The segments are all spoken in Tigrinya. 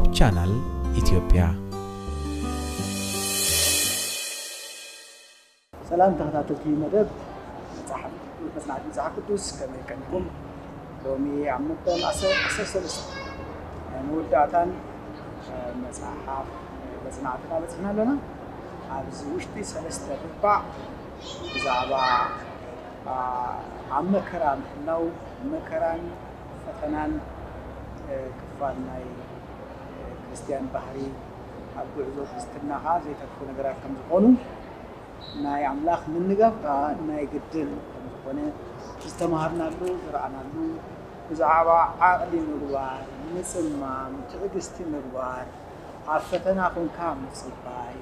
ቻናል ኢትዮጵያ። ሰላም ተኸታተልቲ መደብ መጽሓፍ ቅዱስ፣ መጽናዕቲ መጽሓፍ ቅዱስ፣ ከመይ ቀኒኹም? ሎሚ ኣብ መበል ዓሰርተ ሰለስተ ናይ መወዳእታን መጽሓፍ መጽናዕትና በጺሕና ኣለና። ኣብዚ ውሽጢ ሰለስተ ርባዕ ብዛዕባ ኣብ መከራ ምህላው፣ መከራን ፈተናን ክፋል ናይ ክርስትያን ባህሪ፣ ኣብ ጉዕዞ ክርስትና ከዓ ዘይተርፉ ነገራት ከም ዝኾኑ፣ ናይ ኣምላኽ ምንጋፍ ከዓ ናይ ግድን ከም ዝኾነ ዝተማሃርናሉ፣ ዝረኣናሉ፣ ብዛዕባ ዓቕሊ ምግባር፣ ምጽማም፣ ትዕግስቲ ምግባር፣ ኣብ ፈተና ኮንካ ምጽባይ፣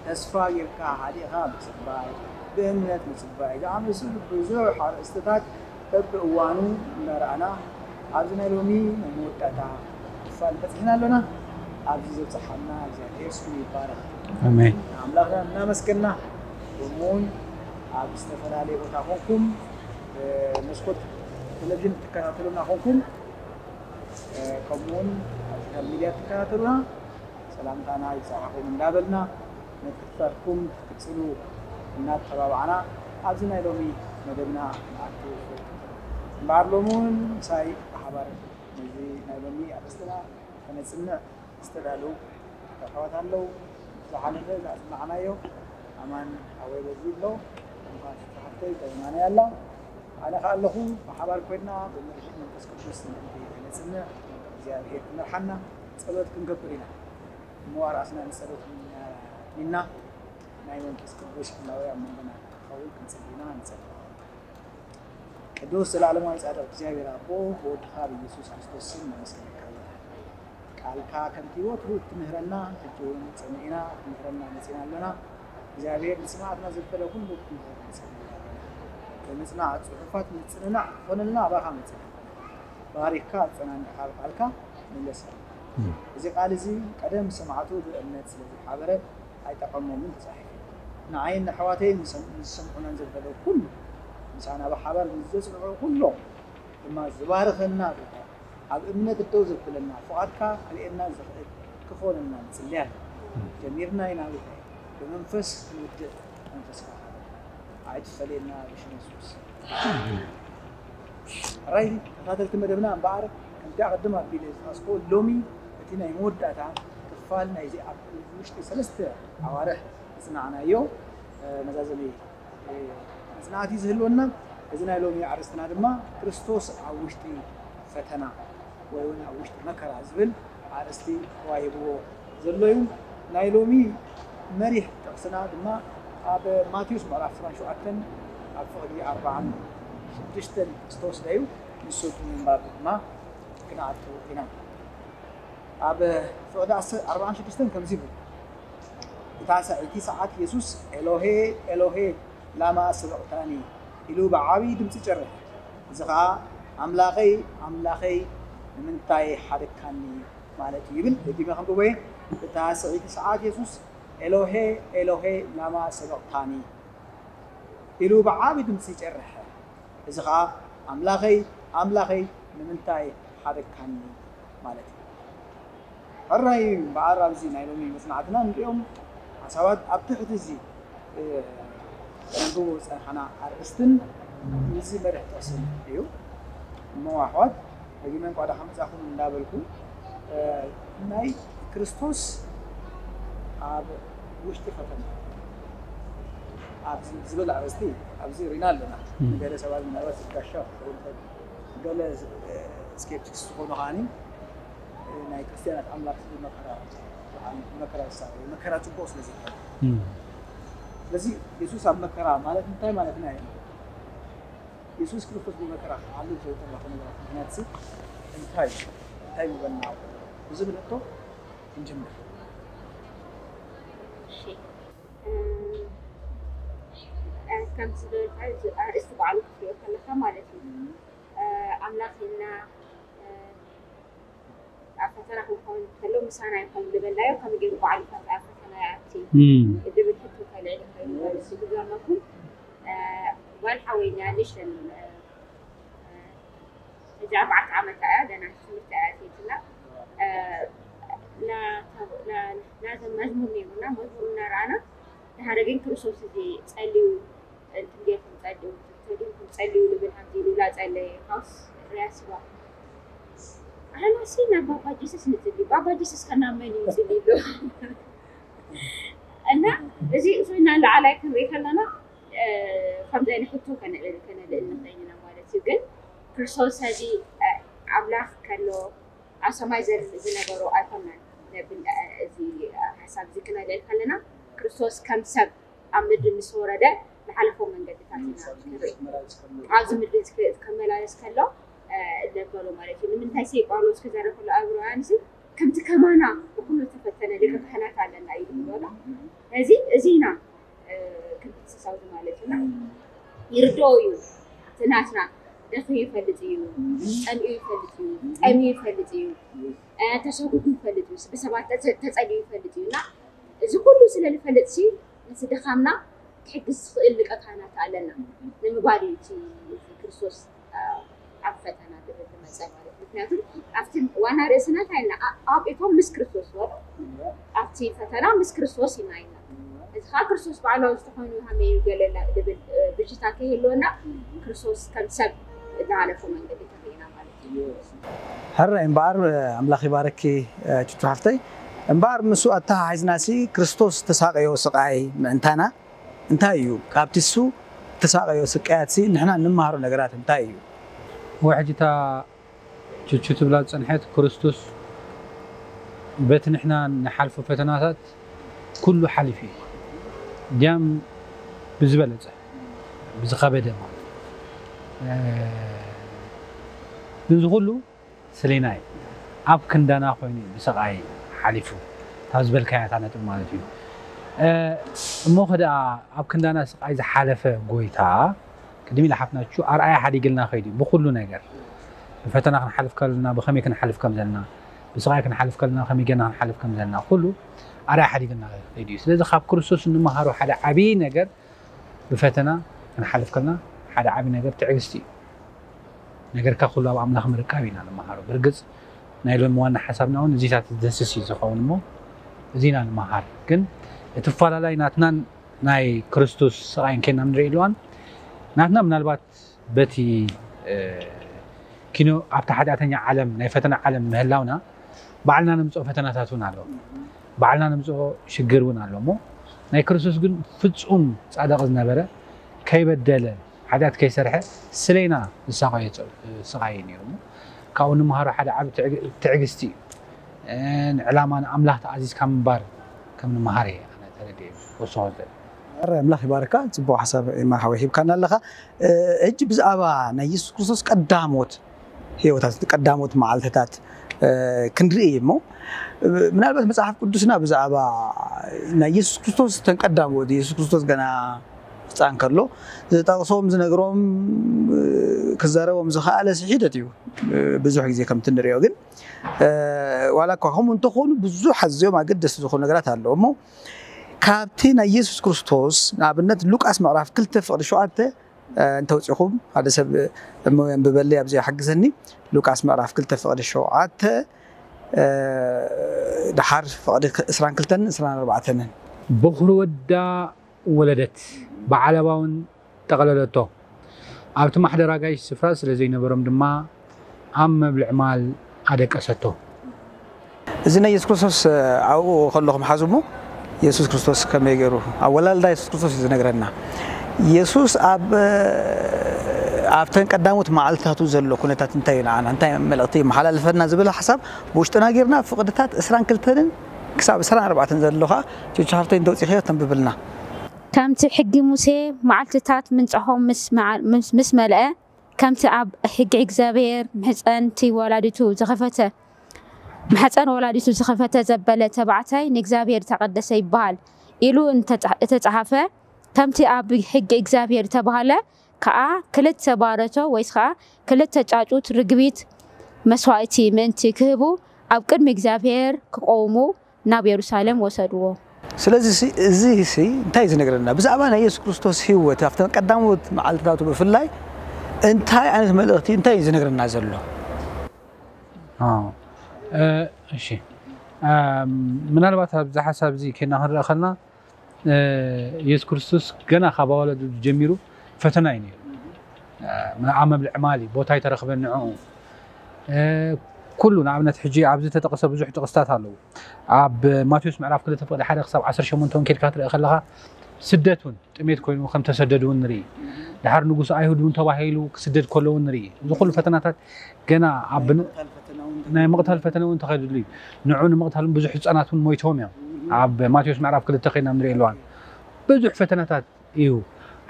ተስፋ ጌርካ ሃዲእኻ ምጽባይ፣ ብእምነት ምጽባይ ዝኣመሰሉ ብዙሕ ኣርእስትታት በብእዋኑ እንዳረኣና ኣብዚ ናይ ሎሚ ናይ መወዳእታ ክፋል በጺሕና ኣሎና። ኣብዚ ዘብጽሓና እግዚኣብሔር ስሙ ይባረኽ። ኣሜን። ኣምላኽና እናመስገና፣ ከምኡውን ኣብ ዝተፈላለየ ቦታ ኮንኩም መስኮት ቴሌቪዥን ትከታተሉና ኮንኩም፣ ከምኡውን ኣብ ሶሻል ሚድያ ትከታተሉና ሰላምታና ይብጻሕኹም እንዳበልና፣ ምክትታልኩም ክትቅጽሉ እናተባባዕና ኣብዚ ናይ ሎሚ መደብና ንኣቱ። እምበኣር ሎሚ እውን ምሳይ ብሓባር ነዚ ናይ ሎሚ ኣርእስትና ከነጽንዕ ዝተዳለዉ ኣሕዋት ኣለዉ። ዝሓለፈ ዝኣጽናዕናዮ ኣማን ኣወይ በዚ ኣሎ፣ እንኳን ሓፍተይ ተዝማነይ ኣላ። ኣነ ከኣ ኣለኹ፣ ብሓባር ኮይንና ብምርሒት መንፈስ ቅዱስ ምእንቲ ከነጽንዕ እግዚኣብሔር ክመርሓና ጸሎት ክንገብር ኢና። እሞ ኣርኣስና ንጸሎት ሚና ናይ መንፈስ ቅዱስ ህላዌ ኣብ መንጎና ክኸውን ክንጽሊ ኢና። ንጸሊ። ቅዱስ ዘላለማዊ ጻድቕ እግዚኣብሔር ኣቦ፣ ብወድኻ ብኢየሱስ ክርስቶስ ስም ነመስግነካ ኣለና። ቃልካ ከምቲ ወትሩ እትምህረና፣ ሕጂ እውን ጸሚዕና ክትምህረና መጺና ኣለና። እግዚኣብሔር ንስምዓትና ዘበለ ኩሉ ክትምህረና ጸሚዕና ኣለና። ብምጽናዕ ጽሑፋት ምጽንናዕ ክኾነልና ኣባኻ መጺና ኣለና። ባሪኽካ ኣጸናኒዕኻ ብቃልካ ምለሰና። እዚ ቃል እዚ ቀደም ሰማዕቱ ብእምነት ስለ ዝሓበረ ኣይጠቐሞምን ተጻሒፉ። ንዓይን ንኣሕዋተይን ንሰም-፣ ንዝሰምዑናን ዘበለ ኩሉ ምሳና ብሓባር ምስ ዘጽንዑ ኩሎም ድማ ዝባርኸና ጌታ፣ ኣብ እምነት ደው ዘብለና፣ ፍቓድካ ክርእየና ዝኽእል ክኾነና ንጽሊ ኣለና። ጀሚርና ኢና ጌታዬ፣ ብመንፈስ ክንውድእ መንፈስካ ኣይትፈለየና ብሽም የሱስ። ሕራይ ተኸታተልቲ መደብና እምበኣር ከምቲ ኣቐድም ኣቢለ ዝጠቐስኩ ሎሚ እቲ ናይ መወዳእታ ክፋል ናይዚ ኣብ ውሽጢ ሰለስተ ኣዋርሕ ዝጽናዕናዮ መዛዘሚ መጽናዕቲ ዝህልወና። እዚ ናይ ሎሚ ኣርእስትና ድማ ክርስቶስ ኣብ ውሽጢ ፈተና ወይ እውን ኣብ ውሽጢ መከራ ዝብል ኣርእስቲ ተዋሂብዎ ዘሎ እዩ። ናይ ሎሚ መሪሕ ጥቕስና ድማ ኣብ ማቴዎስ ምዕራፍ ዕስራን ሸውዓተን ኣብ ፍቕዲ ኣርባዓን ሽዱሽተን ዝተወስደ እዩ። ንሱ ብምንባብ ድማ ክንኣቱ ኢና። ኣብ ፍቕዲ ኣርባዓን ሽዱሽተን ከምዚ ይብል፣ እታ ሰ-፣ እቲ ሰዓት የሱስ ኤሎሄ ኤሎሄ ላማ ሰበቕታኒ ኢሉ ብዓብዪ ድምፂ ጨርሐ። እዚ ኸዓ ኣምላኸይ ኣምላኸይ ንምንታይ ሓደግካኒ ማለት እዩ ይብል። ደጊመ ከንብቦ እየ። እታ ስዕይቲ ሰዓት የሱስ ኤሎሄ ኤሎሄ ላማ ሰበቕታኒ ኢሉ ብዓቢ ድምፂ ጨርሐ። እዚ ኸዓ ኣምላኸይ ኣምላኸይ ንምንታይ ሓደግካኒ ማለት እዩ። ሕራይ እምበኣር ኣብዚ ናይ ሎሚ መጽናዕትና ንሪኦም ሓሳባት ኣብ ትሕቲ እዚ ነንብቦ ዝጸንሓና ኣርእስትን እዚ መርሕ ጥቕስን እዩ። እሞ ኣሕዋት ደጊመ እንኳዕ ደሓን መጻኹም እንዳበልኩ ናይ ክርስቶስ ኣብ ውሽጢ ፈተና ኣብዚ ዝብል ኣርእስቲ ኣብዚ ሪና ኣለና። ገለ ሰባት ምናልባት ዝጋሻ ክኸውን ይኽእል፣ ገለ ስኬፕቲክስ ዝኾኑ ከዓኒ ናይ ክርስትያናት ኣምላኽ ዝብል መከራ መከራ ይሳብ መከራ ጽቡቕ ስለ ዘይኮነ፣ ስለዚ የሱስ ኣብ መከራ ማለት እንታይ ማለትና እዩ? የሱስ ክርስቶስ ብመከራ ክሓልፍ ዘይተረፈ ነገራት ምኽንያት ሲ እንታይ እንታይ ምበልና? ብዝብል ሕቶ ክንጅምር። እሺ፣ ከምዚ ዝበልካ ኣርእስቲ ባዕሉ ክትሪኦ ከለካ ማለት እዩ ኣምላኽ ኢልና ኣብ ፈተና ክንከውን ከሎ ምሳና ይኹን ዝበልናዮ ከመይ ገይሩ ባዕሉ ፈተና ፈተና ይኣቲ ዝብል ሕቶ ከልዕል ይኽእል እዩ። ዝገርመኩም ጓል ሓወይና ንእሽተን ሕጂ ኣርባዕተ ዓመታ እያ፣ ገና ትምህርቲ እያ ኣትየትላ። ናቶም መዝሙር ነይሩና፣ መዝሙር እናረኣና ድሓረ ግን ክርስቶስ እዚ ጸልዩ፣ እንትን ጌርኩም ጸልዩ፣ ተዲንኩም ጸልዩ ልብል ሃምዚ ኢሉ ላጸለየ ካውስ ርያስዋ ኣሕናሲ ናብ ባባ ጀሱስ ንጽሊ፣ ባባ ጀሱስ ከናብ መን እዩ ይጽሊ ኣሎ? እና እዚ እሱና ላዕላይ ክንርኢ ከለና ከምዚ ዓይነት ሕቶ ከነልእል ከነልእል ንኽእል ኢና ማለት እዩ። ግን ክርስቶስ ሕዚ ኣምላኽ ከሎ ኣብ ሰማይ ዝነበሩ ኣይኮናን ነብል። እዚ ሓሳብ እዚ ክነልእል ከለና ክርስቶስ ከም ሰብ ኣብ ምድሪ ምስ ወረደ ዝሓለፎ መንገድታት ኢና ንርኢ። ኣብዚ ምድሪ ከመላለስ ከሎ እነበሎ ማለት እዩ። ንምንታይ ሲ ጳውሎስ ክዘረብ ከሎ ኣብ ሮማንስ ከምቲ ከማና ብኩሉ ዝተፈተነ ሊቀ ካህናት ኣለና እዩ ዝበሎ። እዚ እዚና ክንክስሳው ማለት እዩ። ይርድኦ እዩ። እቲ ናትና ደኺሙ ይፈልጥ እዩ፣ ጸሚኡ ይፈልጥ እዩ፣ ጠሚኡ ይፈልጥ እዩ፣ ተሰጉጉ ይፈልጥ እዩ፣ ብሰባት ተጸልዩ ይፈልጥ እዩ። እና እዚ ኩሉ ስለ ዝፈልጥ ሲ ነቲ ድኻምና ክሕግዝ ዝኽእል ሊቀ ካህናት ኣለና ንምባል እዩ እቲ ክርስቶስ ኣብ ፈተና ዝብል ዝመፀ ማለት። ምክንያቱ ኣብቲ ዋና ርእስና እንታይ ኢልና? ኣውቂቶም ምስ ክርስቶስ በሉ፣ ኣብቲ ፈተና ምስ ክርስቶስ ኢና ኢልና። እዚ ከዓ ክርስቶስ ባዕሉ ዝተኾይኑ ሃመዩ ገለላ ዝብል ብጅታ ከይህልወና ክርስቶስ ከም ሰብ ዝሓለፎ መንገዲ ተሪእና ማለት እዩ። ሕራይ እምበኣር ኣምላኽ ይባረኪ ቹቹ ሓፍተይ። እምበኣር ምስኡ ኣተሓሒዝናሲ ክርስቶስ ተሳቀዮ ስቃይ ምእንታና እንታይ እዩ? ካብቲ እሱ ተሳቀዮ ስቃያትሲ ንሕና እንመሃሮ ነገራት እንታይ እዩ? ወሕጅታ ቹቹ ትብላ ዝጸንሐት ክርስቶስ በቲ ንሕና ንሓልፎ ፈተናታት ኩሉ ሓሊፉ እዩ። ድያም ብዝበለጸ ብዝኸበደ ማለት ግን እዚ ኩሉ ስሌና እዩ ኣብ ክንዳና ኮይኑ ብስቃይ ሓሊፉ ካብ ዝበልካያ እታ ነጥብ ማለት እዩ። እሞ ከደኣ ኣብ ክንዳና ስቃይ ዝሓለፈ ጎይታ ቅድሚ ኢላ ሓፍናቹ ኣርኣያ ሓዲግልና ከይዱ ብኩሉ ነገር ብፈተና ክንሓልፍ ከለና ብከመይ ክንሓልፍ ከም ዘለና ብስቃይ ክንሓልፍ ከለና ከመይ ጌርና ክንሓልፍ ከም ዘለና ኩሉ ኣርኣያ ሓዲግልና ከይዱ እዩ። ስለዚ ካብ ክርስቶስ እንመሃሮ ሓደ ዓብዪ ነገር ብፈተና ክንሓልፍ ከለና ሓደ ዓብዪ ነገር ትዕግስቲ እዩ። ነገርካ ኩሉ ኣብ ኣምላኽ ምርካብ ኢና ንመሃሮ። ብርግጽ ናይ ሎሚ ዋና ሓሳብና እውን እዚታት ዝደስስ እዩ ዝኸውን እሞ እዚና ንመሃር። ግን እቲ ፋላላይ ናትናን ናይ ክርስቶስ ስቓይን ኬና ንርኢ ኣለዋን ናትና ምናልባት በቲ ኪኖ ኣብቲ ሓጢኣተኛ ዓለም ናይ ፈተና ዓለም ምህላውና ባዕልና ንምፅኦ ፈተናታት እውን ኣሎ። ባዕልና ንምፅኦ ሽግር እውን ኣሎ እሞ ናይ ክርስቶስ ግን ፍፁም ፃድቕ ዝነበረ ከይበደለ ሓጢኣት ከይሰርሐ ስለይና ዝሳቐዮ ስቓይ እዩ ነይሩ እሞ ካብኡ ንምሃሮ ሓደ ዓብ ትዕግስቲ እዩ። ንዕላማ ንኣምላኽ ተኣዚዝካ ምንባር ከም ንምሃር እየ ኣነ ተረዲኤ ወስኾ ዘለ ኣረ ኣምላኽ ይባርካ። ፅቡቅ ሓሳብ ማርሓዊ ሂብካና ኣለኻ። ሕጂ ብዛዕባ ናይ የሱስ ክርስቶስ ቀዳሞት ህይወታት ቀዳሞት መዓልትታት ክንርኢ እሞ ምናልባት መፅሓፍ ቅዱስና ብዛዕባ ናይ የሱስ ክርስቶስ ተን ቀዳሞት የሱስ ክርስቶስ ገና ህፃን ከሎ ዝጠቕሶም ዝነግሮም ክዛረቦም ዝኸኣለ ስሒደት እዩ። ብዙሕ ግዜ ከምቲ ንሪኦ ግን ዋላ እኳ ከምኡ እንተኾኑ ብዙሕ ኣዝዮም ኣገደስቲ ዝኾኑ ነገራት ኣለዉ እሞ ካብቲ ናይ የሱስ ክርስቶስ ንኣብነት ሉቃስ ምዕራፍ ክልተ ፍቕዲ ሸውዓተ እንተውፂኹም ሓደ ሰብ እሞ የንብበለይ ኣብዚ ሓግዘኒ ሉቃስ ምዕራፍ ክልተ ፍቕዲ ሸውዓተ ድሓር ፍቕዲ እስራን ክልተን እስራን ኣርባዕተንን በኹሪ ወዳ ወለደት ብዓለባ እውን ጠቐለለቶ ኣብቲ ማሕደር ኣጋይሽ ስፍራ ስለ ዘይነበሮም ድማ ኣብ መብልዕ ማል ኣደቀሰቶ። እዚ ናይ የሱስ ክርስቶስ ኣብኡ ከለኹም ሓዙ እሞ የሱስ ክርስቶስ ከመይ ገይሩ ኣወላልዳ የሱስ ክርስቶስ እዩ ዝነግረና። የሱስ ኣብ ኣብተን ቀዳሞት መዓልትታቱ ዘሎ ኩነታት እንታይ እዩ ንዓና እንታይ መልእኽቲ ይመሓላልፈና ዝብል ሓሳብ ብውሽጥና ጌርና ፍቕድታት እስራን ክልተንን ክሳብ እስራን ኣርባዕተን ዘሎ ከዓ ቸቻ ሃፍተይ እንተውፂኸዮ ተንብብልና። ከምቲ ሕጊ ሙሴ መዓልትታት ምንጻሆም ምስ መዓ- ምስ- ምስ መልአ፣ ከምቲ ኣብ ሕጊ እግዚኣብሔር ምሕጸንቲ ወላዲቱ ዝኸፈተ፣ ማሕጸን ወላዲቱ ዝኸፈተ ዘበለ ተባዕታይ ንእግዚኣብሔር ዝተቐደሰ ይበሃል ኢሉ እንተጸ- እተጸሓፈ፣ ከምቲ ኣብ ሕጊ እግዚኣብሔር ዝተባህለ ከኣ ክልተ ባረቶ ወይስ ከኣ ክልተ ጫጩት ርግቢት መስዋእቲ ምእንቲ ክህቡ ኣብ ቅድሚ እግዚኣብሔር ክቆውሙ ናብ የሩሳሌም ወሰድዎ። ስለዚ ሲ- እዚ ሲ እንታይ እዩ ዝነግረና? ብዛዕባ ናይ የሱስ ክርስቶስ ህይወት ኣብተን ቀዳሞት መዓልትታቱ ብፍላይ እንታይ ዓይነት መልእኽቲ እንታይ እዩ ዝነግረና ዘሎ? ኣዎ። እ፣ እሺ። ምናልባት ኣብዚ ሓሳብ እዚ ከና ክንረአ ከልና የሱስ ክርስቶስ ገና ካብ ኣዋለዱ ጀሚሩ ፈተና እዩ ነይሩ። ኣብ መብልዕ ማሊ ቦታ ኣይተረኽበን ንዕኡ። ኩሉ ንኣብነት ሕጂ ኣብዚ ተጠቕሰ ብዙሕ ጥቕስታት ኣለዉ። ኣብ ማቴዎስ ምዕራፍ ክልተ ፍቕዲ ሓደ ክሳብ ዓሰርተ ሸሞንተ እውን ኬድካ ክትርኢ ከለኻ ስደት እውን ጥሜት ኮይኑ ከም ተሰደዱ እውን ንርኢ። ድሓር ንጉስ ኣይሁድ እውን ተባሂሉ ክስደድ ከሎ እውን ንርኢ። እዚ ኩሉ ፈተናታት ገና ኣብ ናይ ምቕታል ፈተና እውን ተኸድሉ እዩ። ንዑ ንምቕታል እውን ብዙሕ ህፃናት እውን ሞይቶም እዮም። ኣብ ማቴዎስ ምዕራፍ ክልተ ኮይና ንርኢ ኣለዋን ብዙሕ ፈተናታት እዩ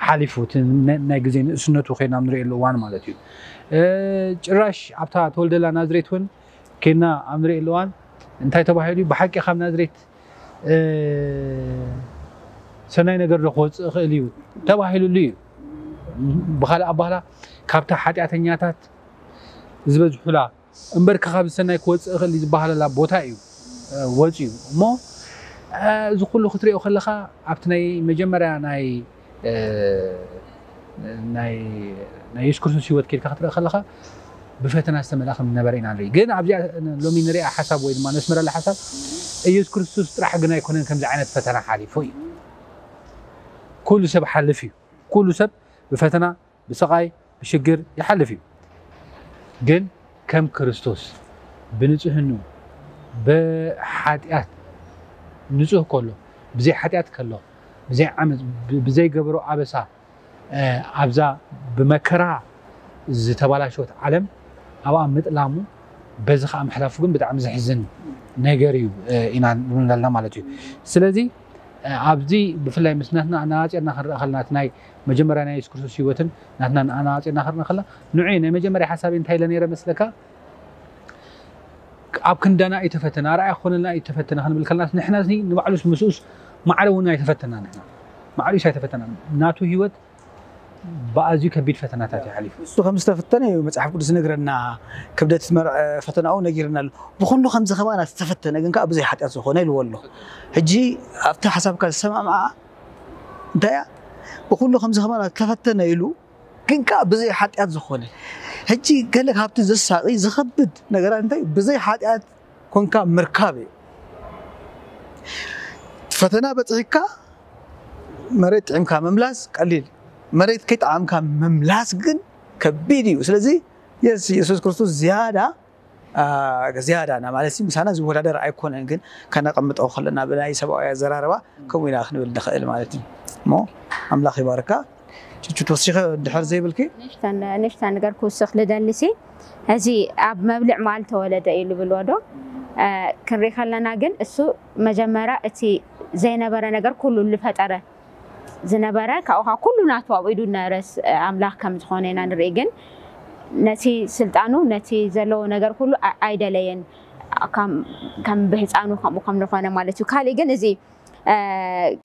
ሓሊፉ እቲ ናይ ግዜ ንእስነቱ ኮይና ንሪእሉ እዋን ማለት እዩ። ጭራሽ ኣብታ ተወልደላ ናዝሬት እውን ኬና ኣብ ንሪእሉ እዋን እንታይ ተባሂሉ እዩ? ብሓቂ ካብ ናዝሬት ሰናይ ነገር ዶ ክወፅእ ይኽእል እዩ ተባሂሉሉ እዩ። ብካልእ ኣባህላ ካብታ ሓጢኣተኛታት ዝበዝሑላ እምበር ካብ ሰናይ ክወፅእ ይኽእል ዝበሃለላ ቦታ እዩ ወፅዩ። እሞ እዚ ኩሉ ክትሪኦ ከለካ ኣብቲ ናይ መጀመርያ ናይ ናይ ናይ የሱስ ክርስቶስ ህይወት ኬድካ ክትርኢ ከለካ ብፈተና ዝተመልኣ ከም ዝነበረ ኢና ንርኢ። ግን ኣብዚኣ ሎሚ ንሪኣ ሓሳብ ወይ ድማ ነስምረላ ሓሳብ፣ ኢየሱስ ክርስቶስ ጥራሕ ግን ኣይኮነን ከምዚ ዓይነት ፈተና ሓሊፉ እዩ። ኩሉ ሰብ ሓልፍ እዩ። ኩሉ ሰብ ብፈተና፣ ብስቓይ፣ ብሽግር ይሓልፍ እዩ። ግን ከም ክርስቶስ ብንጽህኑ፣ ብሓጢኣት ንጹህ ከሎ፣ ብዘይ ሓጢኣት ከሎ፣ ብዘይ ዓመጽ፣ ብዘይ ገበሮ ኣበሳ ኣብዛ ብመከራ ዝተባላሸወት ዓለም ኣብኣ ምጥላሙ፣ በዚ ከዓ ምሕላፉ ግን ብጣዕሚ ዘሕዝን ነገር እዩ ኢና ንብለልና ማለት እዩ። ስለዚ ኣብዚ ብፍላይ ምስ ናትና ኣነፃፂርና ክንረኣ ከለና፣ እቲ ናይ መጀመርያ ናይ የሱስ ክርስቶስ ህይወትን ናትና ኣነፃፂርና ክንረኣ ከለና፣ ንዑ ናይ መጀመርያ ሓሳብ እንታይ ኢለ ነይረ መስለካ? ኣብ ክንዳና እዩ ተፈተነ፣ ኣርኣያ ክኾነልና እዩ ተፈተነ ክንብል ከለና፣ ንሕና እዚ ንባዕሉስ ምስኡስ ማዕረ እውን ኣይተፈተና። ንሕና ማዕሪኡስ ኣይተፈተና። ናቱ ህይወት ብኣዝዩ ከቢድ ፈተናታት እዩ ሓሊፉ። እሱ ከም ዝተፈተነ እዩ መጽሓፍ ቅዱስ ዝነግረና። ክብደት መር-፣ ፈተናኡ ነጊርና ኣሎ። ብኹሉ ከምዚ ከማና ዝተፈተነ ግን ከኣ ብዘይ ሓጢኣት ዝኾነ ኢልዎ ኣሎ። ሕጂ ኣብቲ ሓሳብካ ዝሰማምዓ እንታይ እያ? ብኹሉ ከምዚ ከማና ዝተፈተነ ኢሉ ግን ከኣ ብዘይ ሓጢኣት ዝኾነ። ሕጂ ገለ ካብቲ ዘሳቒ ዝኸብድ ነገራት እንታይ? ብዘይ ሓጢኣት ኮንካ ምርካብ እዩ። ፈተና በጺሕካ መሬት ጥዒምካ ምምላስ ቀሊል፣ መሬት ከይጠዓምካ ምምላስ ግን ከቢድ እዩ። ስለዚ የስ-፣ የሱስ ክርስቶስ ዝያዳ፣ አ፣ ዝያዳ ና ማለት ምሳና ዝወዳደር ኣይኮነን፣ ግን ከነቐምጦ ከለና ብናይ ሰብኣዊ ኣዘራርባ ከምኡ ኢና ክንብል ንኽእል ማለት እዩ። እሞ ኣምላኽ ይባርካ። ቹቹ ተወሲኸ ድሕር ዘይብልኪ? ንእሽተን፣ ንእሽተን ነገር ክውስኽ ልደሊ ሲ፣ እዚ ኣብ መብልዕ መዓል ተወለደ እዩ ልብልዎ ዶ? እ፣ ክንርኢ ከለና ግን እሱ መጀመርያ እቲ ዘይነበረ ነገር ኩሉ ልፈጠረ ዝነበረ፣ ካብኡ ከዓ ኩሉ ናቱ ኣብኡ ኢዱ ነበረ ስ-፣ ኣምላኽ ከም ዝኾነ ኢና ንርኢ። ግን ነቲ ስልጣኑ፣ ነቲ ዘለዎ ነገር ኩሉ ኣ-፣ ኣይደለየን። ከም፣ ከም ብህፃኑ ከምኡ ከም ዝኾነ ማለት እዩ። ካሊእ ግን እዚ፣ እ፣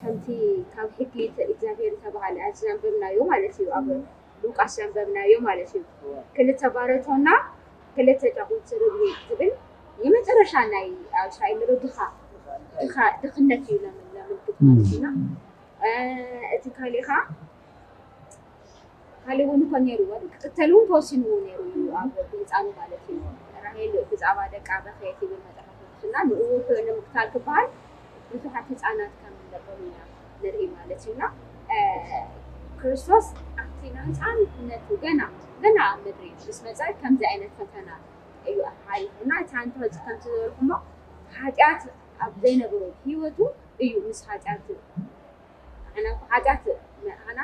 ከምቲ ካብ ሕጊ ተ-፣ እግዚኣብሔር ዝተባሃለ ኣብዚ ዘንበብናዮ ማለት እዩ። ኣብ ሉቃስ ዘንበብናዮ ማለት እዩ። ክልተ ባረቶና ክልተ ጫቑት ርግቢ ዝብል የመጨረሻ ናይ ኣብ እስራኤል ድኻ፣ ድኻ፣ ድኽነት እዩ ለምን-፣ ለምልክት ማለት እዩና። እ፣ እቲ ካሊእ ኸዓ ካሊእ እውን እኮ ነይሩ፣ ክቕተል እውን ተወሲንዎ ነይሩ እዩ ኣብ ብህፃኑ ማለት እዩ። ራሄል ብዛዕባ ደቃ በኸየት ይብል መጽሓፍ ቅዱስና፣ ንእኡ ክ-፣ ንምቕታል ክበሃል ብዙሓት ህፃናት ከም ዝነበሩ ኢና ንርኢ ማለት እዩና። እ፣ ክርስቶስ ኣብቲ ናይ ህፃንነቱ ገና፣ ገና ኣብ ምድሪ ምስ መጸ ከምዚ ዓይነት ፈተና እዩ ሓሊፉና። እቲ ኣንተ ከምቲ ዝበልኩሞ ሓጢኣት ኣብ ዘይነበሮ ህይወቱ እዩ ምስ ሓጢኣት፣ ንሕና እኮ ሓጢኣት፣ ንሕና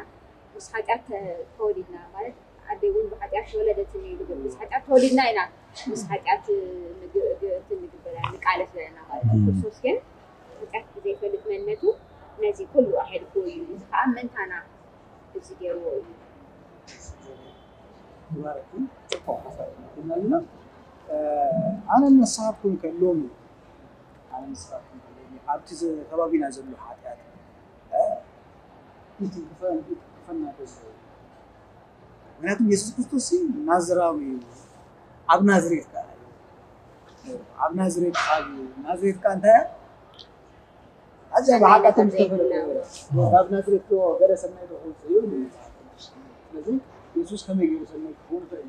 ምስ ሓጢኣት ተ-፣ ተወሊድና ማለት ኣደይ እውን ብሓጢኣት ተወለደት እዩ ዝብል። ምስ ሓጢኣት ተወሊድና ኢና ምስ ሓጢኣት ንግ-፣ ግ-፣ እንትን ንግበር፣ ንቃለስ ዘለና ማለት እዩ። እም። ክርስቶስ ግን ሓጢኣት ብዘይፈልጥ መንነቱ ነዚ ኩሉ ኣሕሊፍዎ እዩ። እዚ ከዓ ምእንታና እዚ ገይርዎ እዩ። ይባረኪ። ጽቡቕ ሓሳብ ኢና ኣለና። እ፣ ኣነ ንስኻትኩም ከ ሎሚ፣ ኣነ ንስኻትኩም ከ ሎሚ ኣብቲ ዘ-፣ ከባቢና ዘሎ ሓጢኣት፣ እ፣ እቲ ክፈ-፣ እቲ ክፈና ዘሎ። ምክንያቱም የሱስ ክርስቶስ ሲ ናዝራዊ እዩ። ኣብ ናዝሬት ከኣ እዩ። ኣብ ናዝሬት ከኣ እዩ። ናዝሬት ከኣ እንታይ እያ? ኣዝያ ብሓጢኣቶም ዝተፈለጠ። ካብ ናዝሬት ዶ ገለ ሰናይ ዶ ክወጽእ እዩ? ስለዚ የሱስ ከመይ ገይሩ ሰናይ ክኸውን ይኽእል?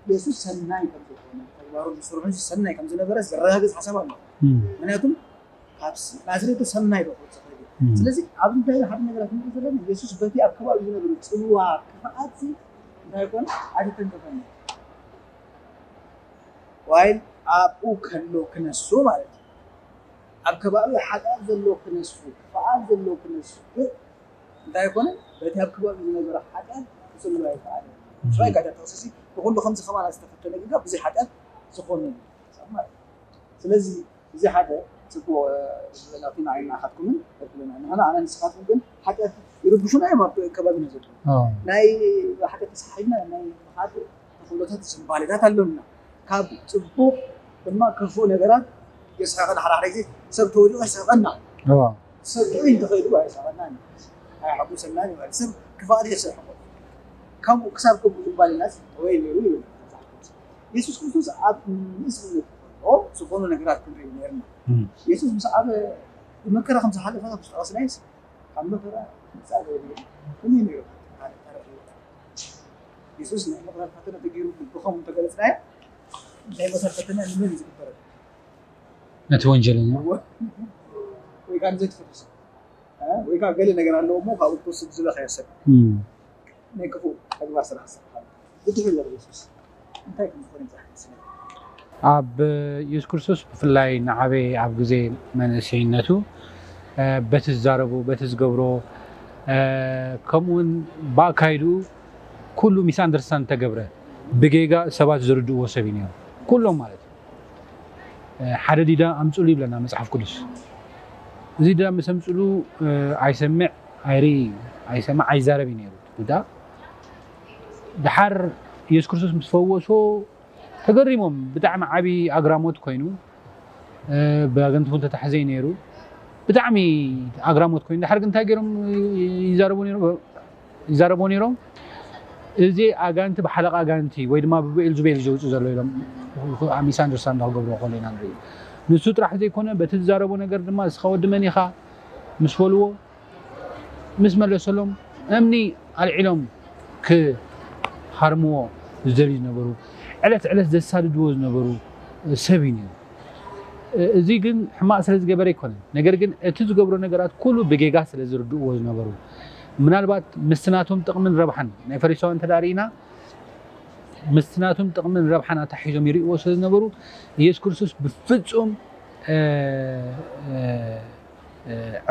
የሱስ ሰናይ ከም ዝኾነ፣ ተግባሩ ዝሰርሑ ሰናይ ከም ዝነበረ ዘረጋግጽ ሓሳብ ኣሎ። ምክንያቱም ካብ ስ- ናዝሬቱ ሰናይ ዶ ክወጽእ ይኽእል እዩ? ስለዚ ኣብዚ እንታይ ሓደ ነገራት ንርኢ ዘለና፣ የሱስ በቲ ኣብ ከባቢ ዝነበረ ጽልዋ ክፍኣት እንታይ ኮነ? ኣይተተንከፈን። ዋይል ኣብኡ ከሎ ክነሱ ማለት እዩ። ኣብ ከባቢ ሓጢኣት ዘሎ ክነሱ፣ ክፍኣት ዘሎ ክነሱ፣ ግን እንታይ ኮነ? በቲ ኣብ ከባቢ ዝነበረ ሓጢኣት ክጽልዋ ይከኣል። ስራይ ጋዳ ተኸሰሲ ብኩሉ ከምዚ ከማና ዝተፈተነ ጌጋ ብዘይ ሓጢኣት ዝኾነ እዩ። ማለት እዩ። ስለዚ እዚ ሓደ ጽቡቕ ናብቲ ንዓይ ንዓኻትኩምን ረክብና ንሕና ኣነ ንስኻትኩም ግን ሓጢኣት ይርብሹና እዮም ኣብ ከባቢና ዘለዉ ናይ ሓጢኣት ተሰሓይና ናይ ምኻድ ተኽእሎታት ዝንባሌታት ኣለና ካብ ጽቡቕ ድማ ክፉእ ነገራት የስሕቐና ሓድሓደ ግዜ ሰብ ተወዲቑ የስሕቐና ሰብ ጥዑይ እንተኸይዱ ኣይስሕቐና ኣይሓጉሰናን ይበሃል ሰብ ክፋኣት የስሕቆ ከምኡ ክሳብ ከምኡ ዝንባሌናስ ወይ ነይሩ ይብል የሱስ ክርስቶስ ኣብ ንእስነት ዝኾኑ ነገራት ክንርኢ ነርና የሱስ ምስ ዓበ ብመከራ ከም ዝሓለፈ ናብ ዝጠቐስናይስ ካብ መከራ ምፃእ ዘይብሉ ከመይ ነይሩ የሱስ ናይ መከራ ፈተነ ተገይሩ ብኸም እንተገለፅናዮ ናይ መከራ ፈተነ ንመን እዩ ዝግበረ ነቲ ወንጀለኛ ወይ ከዓ ንዘይትፈርስ ወይ ከዓ ገለ ነገር ኣለዎ እሞ ካብኡ ክወስድ ዝለኸየ ሰብ ናይ ክፉእ ተግባር ስራሕ ዝሰርሓሉ ብድሕሪ ዘሎ የሱስ እንታይ ከም ዝኾነ ይብዛሕ ይመስለኒ ኣብ የሱስ ክርስቶስ ብፍላይ ንዓበይ ኣብ ግዜ መንእሰይነቱ በቲ ዝዛረቦ በቲ ዝገብሮ ከምኡውን ብኣካይድኡ ኩሉ ሚስ ኣንደርስታንድ ተገብረ ብጌጋ ሰባት ዝርድእዎ ሰብ እዩ ነይሩ ኩሎም ማለት እዩ ሓደ ዲዳ ኣምፅሉ ይብለና መፅሓፍ ቅዱስ እዚ ዲዳ ምስ ኣምፅሉ ኣይሰምዕ ኣይርኢ ኣይሰምዕ ኣይዛረብ እዩ ነይሩ ዲዳ ድሓር የሱስ ክርስቶስ ምስ ፈወሶ ተገሪሞም ብጣዕሚ ዓብዪ ኣግራሞት ኮይኑ ብኣገንቲ እውን ተታሕዘ እዩ ነይሩ ብጣዕሚ ኣግራሞት ኮይኑ ድሓር ግን እንታይ ገይሮም ይዛረቡ ነይሮም ይዛረብዎ ነይሮም እዚ ኣጋንቲ ብሓለቃ ኣጋንቲ ወይ ድማ ብብኤልዙቤል እዩ ዘውፅእ ዘሎ ኢሎም ሚስ ኣንደርስታንድ ክገብርዎ ከሎ ኢና ንርኢ ንሱ ጥራሕ ዘይኮነ በቲ ዝዛረቦ ነገር ድማ እስኻ ወዲ መን ኢኻ ምስ በልዎ ምስ መለሰሎም እምኒ ኣልዒሎም ክሃርምዎ ዝደልዩ ዝነበሩ ዕለት ዕለት ዘሳድድዎ ዝነበሩ ሰብ እዩ ነይሩ እዚ ግን ሕማቕ ስለ ዝገበረ ኣይኮነን ነገር ግን እቲ ዝገብሮ ነገራት ኩሉ ብጌጋ ስለ ዝርድእዎ ዝነበሩ ምናልባት ምስቲ ናቶም ጥቕምን ረብሓን ናይ ፈሪሳውያን እንተ ርኢና ምስቲ ናቶም ጥቕምን ረብሓን ኣታሒዞም ይርእዎ ስለ ዝነበሩ ኢየሱስ ክርስቶስ ብፍጹም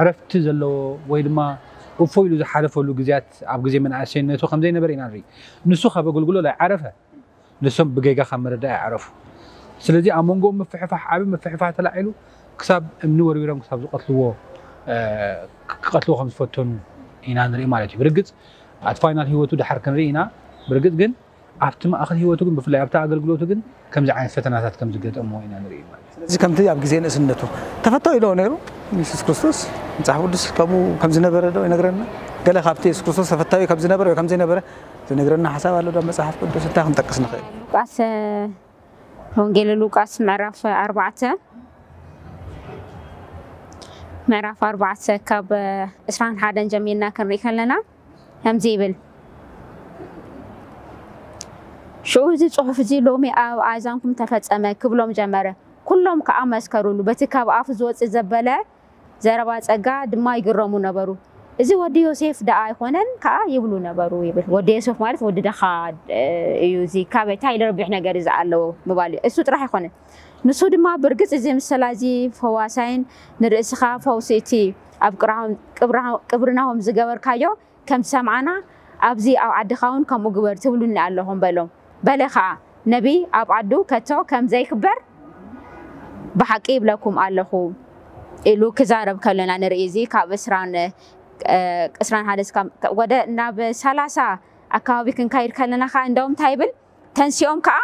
ዕረፍቲ ዘለዎ ወይ ድማ እፎ ኢሉ ዝሓለፈሉ ግዜያት ኣብ ግዜ መናእሰይነቱ ከም ዘይነበረ ኢና ንርኢ ንሱ ካብ ኣገልግሎ ኣይዓረፈ ንሶም ብጌጋ ካብ መረዳእ ይዓረፉ ስለዚ ኣብ መንጎኦም ምፍሕፋሕ ዓቢ ምፍሕፋሕ ተላዒሉ ክሳብ እምኒ ወርዊሮም ክሳብ ዝቀትልዎ ክቀትልዎ ከም ዝፈተኑ ኢና ንርኢ ማለት እዩ ብርግጽ ኣት ፋይናል ህይወቱ ድሓር ክንርኢ ኢና ብርግጽ ግን ኣብቲ ማእኸል ህይወቱ ግን ብፍላይ ኣብቲ ኣገልግሎቱ ግን ከምዚ ዓይነት ፈተናታት ከም ዝገጠምዎ ኢና ንርኢ ማለት እዩ ስለዚ ከምቲ ኣብ ግዜ ንእስነቱ ተፈታዊ ዶ ነይሩ የሱስ ክርስቶስ መፅሓፍ ቅዱስ ከምኡ ከም ዝነበረ ዶ ይነግረና ገለ ካብቲ የሱስ ክርስቶስ ተፈታዊ ከም ዝነበረ ወይ ከም ዘይነበረ ዝነግረና ሓሳብ ኣሎ ዶ መፅሓፍ ቅዱስ እንታይ ክንጠቅስ ንኽእል ሉቃስ ወንጌል ሉቃስ ምዕራፍ ኣርባዕተ ምዕራፍ ኣርባዕተ ካብ እስራን ሓደን ጀሚርና ክንርኢ ከለና ከምዚ ይብል ሽዑ እዚ ጽሑፍ እዚ ሎሚ ኣብ ኣእዛንኩም ተፈጸመ ክብሎም ጀመረ። ኩሎም ከኣ መስከሩሉ። በቲ ካብ ኣፉ ዝወጽእ ዘበለ ዘረባ ጸጋ ድማ ይግረሙ ነበሩ። እዚ ወዲ ዮሴፍ ደኣ ኣይኮነን ከኣ ይብሉ ነበሩ ይብል። ወዲ ዮሴፍ ማለት ወዲ ደኻ እዩ። እዚ ካበይ እንታይ ረቢሕ ነገር እዩ ዝኣለዎ ምባል እዩ። እሱ ጥራሕ ኣይኮነን። ንሱ ድማ ብርግጽ እዚ ምስላ እዚ ፈዋሳይን ንርእስኻ ፈውሲ እቲ ኣብ ቅብርናሆም ዝገበርካዮ ከም ዝሰምዓና ኣብዚ ኣብ ዓድኻ እውን ከምኡ ግበር ትብሉኒ ኣለኹም በሎም። በለ ኸዓ፣ ነቢይ ኣብ ዓዱ ከቶ ከም ዘይክበር ብሓቂ ይብለኩም ኣለኹ ኢሉ ክዛረብ ከሎና ንርኢ። እዚ ካብ ዕስራን ዕስራን ሓደ ወደ ናብ ሰላሳ ኣካባቢ ክንካይድ ከለና ኸዓ እንደውም እንታይ ይብል? ተንሲኦም ከኣ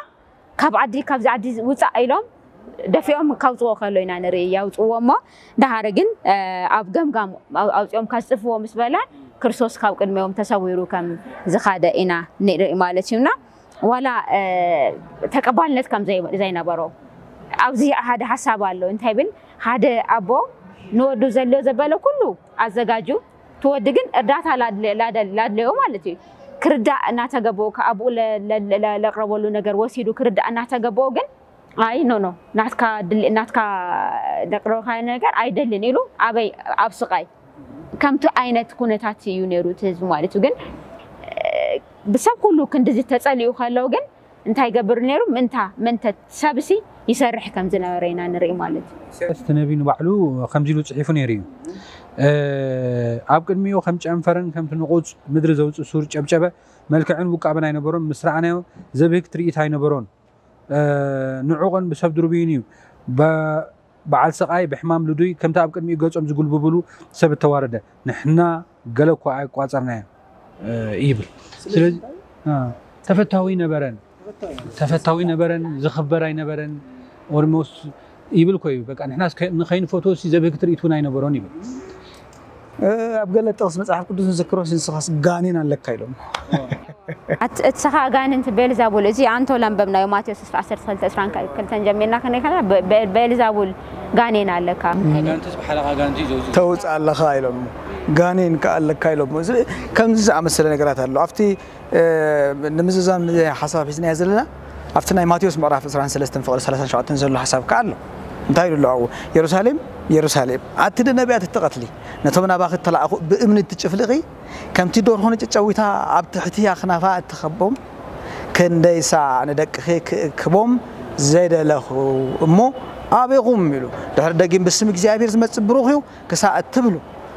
ካብ ዓዲ ካብዚ ዓዲ ውፃእ ኢሎም ደፊኦም ካውፅዎ ከሎ ኢና ንርኢ ያውፅዎ እሞ ደሃረ ግን ኣብ ገምጋም ኣውፅኦም ካዝጥፍዎ ምስ በለ ክርስቶስ ካብ ቅድሚኦም ተሰዊሩ ከም ዝኻደ ኢና ንርኢ ማለት እዩና ዋላ ተቀባልነት ከም ዘይነበሮ ኣብዚ ሓደ ሓሳብ ኣሎ እንታይ ብል ሓደ ኣቦ ንወዱ ዘልዮ ዘበለ ኩሉ ኣዘጋጁ ትወዲ ግን እርዳታ ላድለዮ ማለት እዩ ክርዳእ እናተገበኦ፣ ካብኡ ለ- ለ- ለ- ለቅረበሉ ነገር ወሲዱ ክርዳእ እናተገበኦ ግን፣ ኣይ ኖ ኖ፣ ናትካ ድል ናትካ ለቅረብካዮ ነገር ኣይደልን ኢሉ፣ ኣበይ ኣብ ስቃይ። ከምቲ ዓይነት ኩነታት እዩ ነይሩ እቲ ህዝቢ ማለት እዩ። ግን ብሰብ ኩሉ ክንድዚ ተጸሊኡ ከለው ግን እንታይ ይገብር ነይሩ? ምንታ መንተት ሰብሲ ይሰርሕ ከም ዝነበረ ኢና ንርኢ ማለት እዩ። እቲ ነቢ ንባዕሉ ከምዚ ኢሉ ጽሒፉ ነይሩ እዩ። ኣብ ቅድሚኡ ከም ጨንፈርን ከምቲ ንቑጽ ምድሪ ዘውፅእ ሱር ጨብጨበ። መልክዕን ውቃበን ኣይነበሮን፣ ምስ ረኣናዮ ዘብህግ ትርኢት ኣይነበሮን። ንዑቕን ብሰብ ድርቡይን እዩ። በዓል ስቓይ ብሕማም ልዱይ ከምቲ ኣብ ቅድሚኡ ገጾም ዝጉልብብሉ ሰብ እተዋረደ። ንሕና ገለ እኳ ኣይቋጸርናዮ ይብል። ስለዚ ተፈታዊ ነበረን ተፈታዊ ነበረን ዝኽበር ኣይነበረን። ኦርሞስ ይብል ኮዩ በቃ ንሕና ንኸይንፈትዎ ሲ ዘብህግ ትርኢት እውን ኣይነበሮን ይብል። ኣብ ገለ ጥቕስ መጽሓፍ ቅዱስ ንዝክሮ ንስኻስ ጋኔን ኣለካ ኢሎም። ኣትእትሰኻ ኣጋንንቲ ቤልዛቡል እዚ ኣንቶ ለንበብናዮ ማቴዎስ ዕስራ ዓሰርተ ክልተ ዕስራን ክልተን ጀሚርና ክንሪኢ ከለና ቤልዛቡል ጋኔን ኣለካ። ኣጋንንትስ ብሓለኻ ኣጋንንቲ እዩ ዘውፅእ። ተውፅእ ኣለኻ ኢሎም። ጋኔን ከኣ ኣለካ ኢሎም። እዚ ከምዚ ዝኣመሰለ ነገራት ኣሎ ኣብቲ ንምዝዛም ሓሳብ ሒዝናዮ ዘለና ኣብቲ ናይ ማቴዎስ ምዕራፍ ዕስራን ሰለስተን ፍቕዲ ሰላሳን ሸውዓተን ዘሎ ሓሳብ ከኣ ኣሎ። እንታይ ኢሉ ኣሎ ኣብኡ? የሩሳሌም የሩሳሌም ኣቲ ንነቢያት እትቐትሊ ነቶም ናባኺ እተላእኹ ብእምኒ እትጭፍልቒ ከምቲ ዶርሆ ንጭጨዊታ ኣብ ትሕቲ ኣኽናፋ እትኸቦም ክንደይሳ ንደቅኺ ክእክቦም ዘይደለኹ እሞ ኣበይኹም ኢሉ ድሕሪ ደጊም ብስም እግዚኣብሔር ዝመጽእ ብሩኽ እዩ ክሳዕ እትብሉ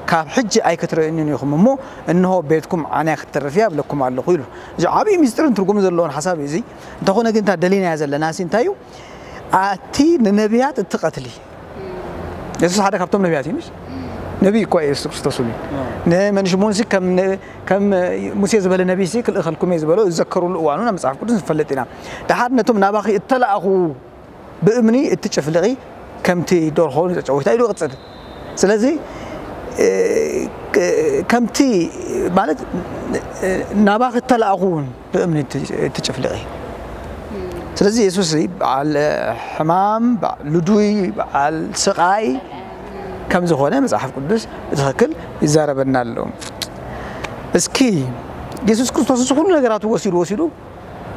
ካብ ሕጂ ኣይክትርእዩንን ኢኹም እሞ እንሆ ቤትኩም ዓንያ ክትተርፍ እያ እብለኩም ኣለኹ ኢሉ። እዚ ዓብዪ ምስጢርን ትርጉምን ዘለዎን ሓሳብ እዩ እዚ። እንተኾነ ግን እታ ደሊናያ ዘለና ሲ እንታይ እዩ? ኣቲ ንነቢያት እትቐትሊ የሱስ ሓደ ካብቶም ነቢያት እዩ ምሽ ነቢይ እኳ የሱስ ክርስቶስ እዩ። ንመንሽሙን ሲ ከም ሙሴ ዝበለ ነቢይ ሲ ክልእኸልኩም እየ ዝበሎ ዝዘከሩሉ እዋኑ ናብ መጽሓፍ ቅዱስ ንፈልጥ ኢና። ድሓር ነቶም ናባኺ እተላእኹ ብእምኒ እትጭፍልቒ ከምቲ ዶርሆ ንጨጨዊታ ኢሉ ይቕጽል። ስለዚ ከምቲ ማለት ናባኺ እተላእኹ እውን ብእምኒ እትጭፍልቒ። ስለዚ የሱስ በዓል ሕማም፣ በዓል ልዱይ፣ በዓል ስቓይ ከም ዝኾነ መጽሓፍ ቅዱስ ብትኽክል ይዛረበና ኣሎ። እስኪ የሱስ ክርስቶስ እዚ ኩሉ ነገራቱ ወሲዱ ወሲዱ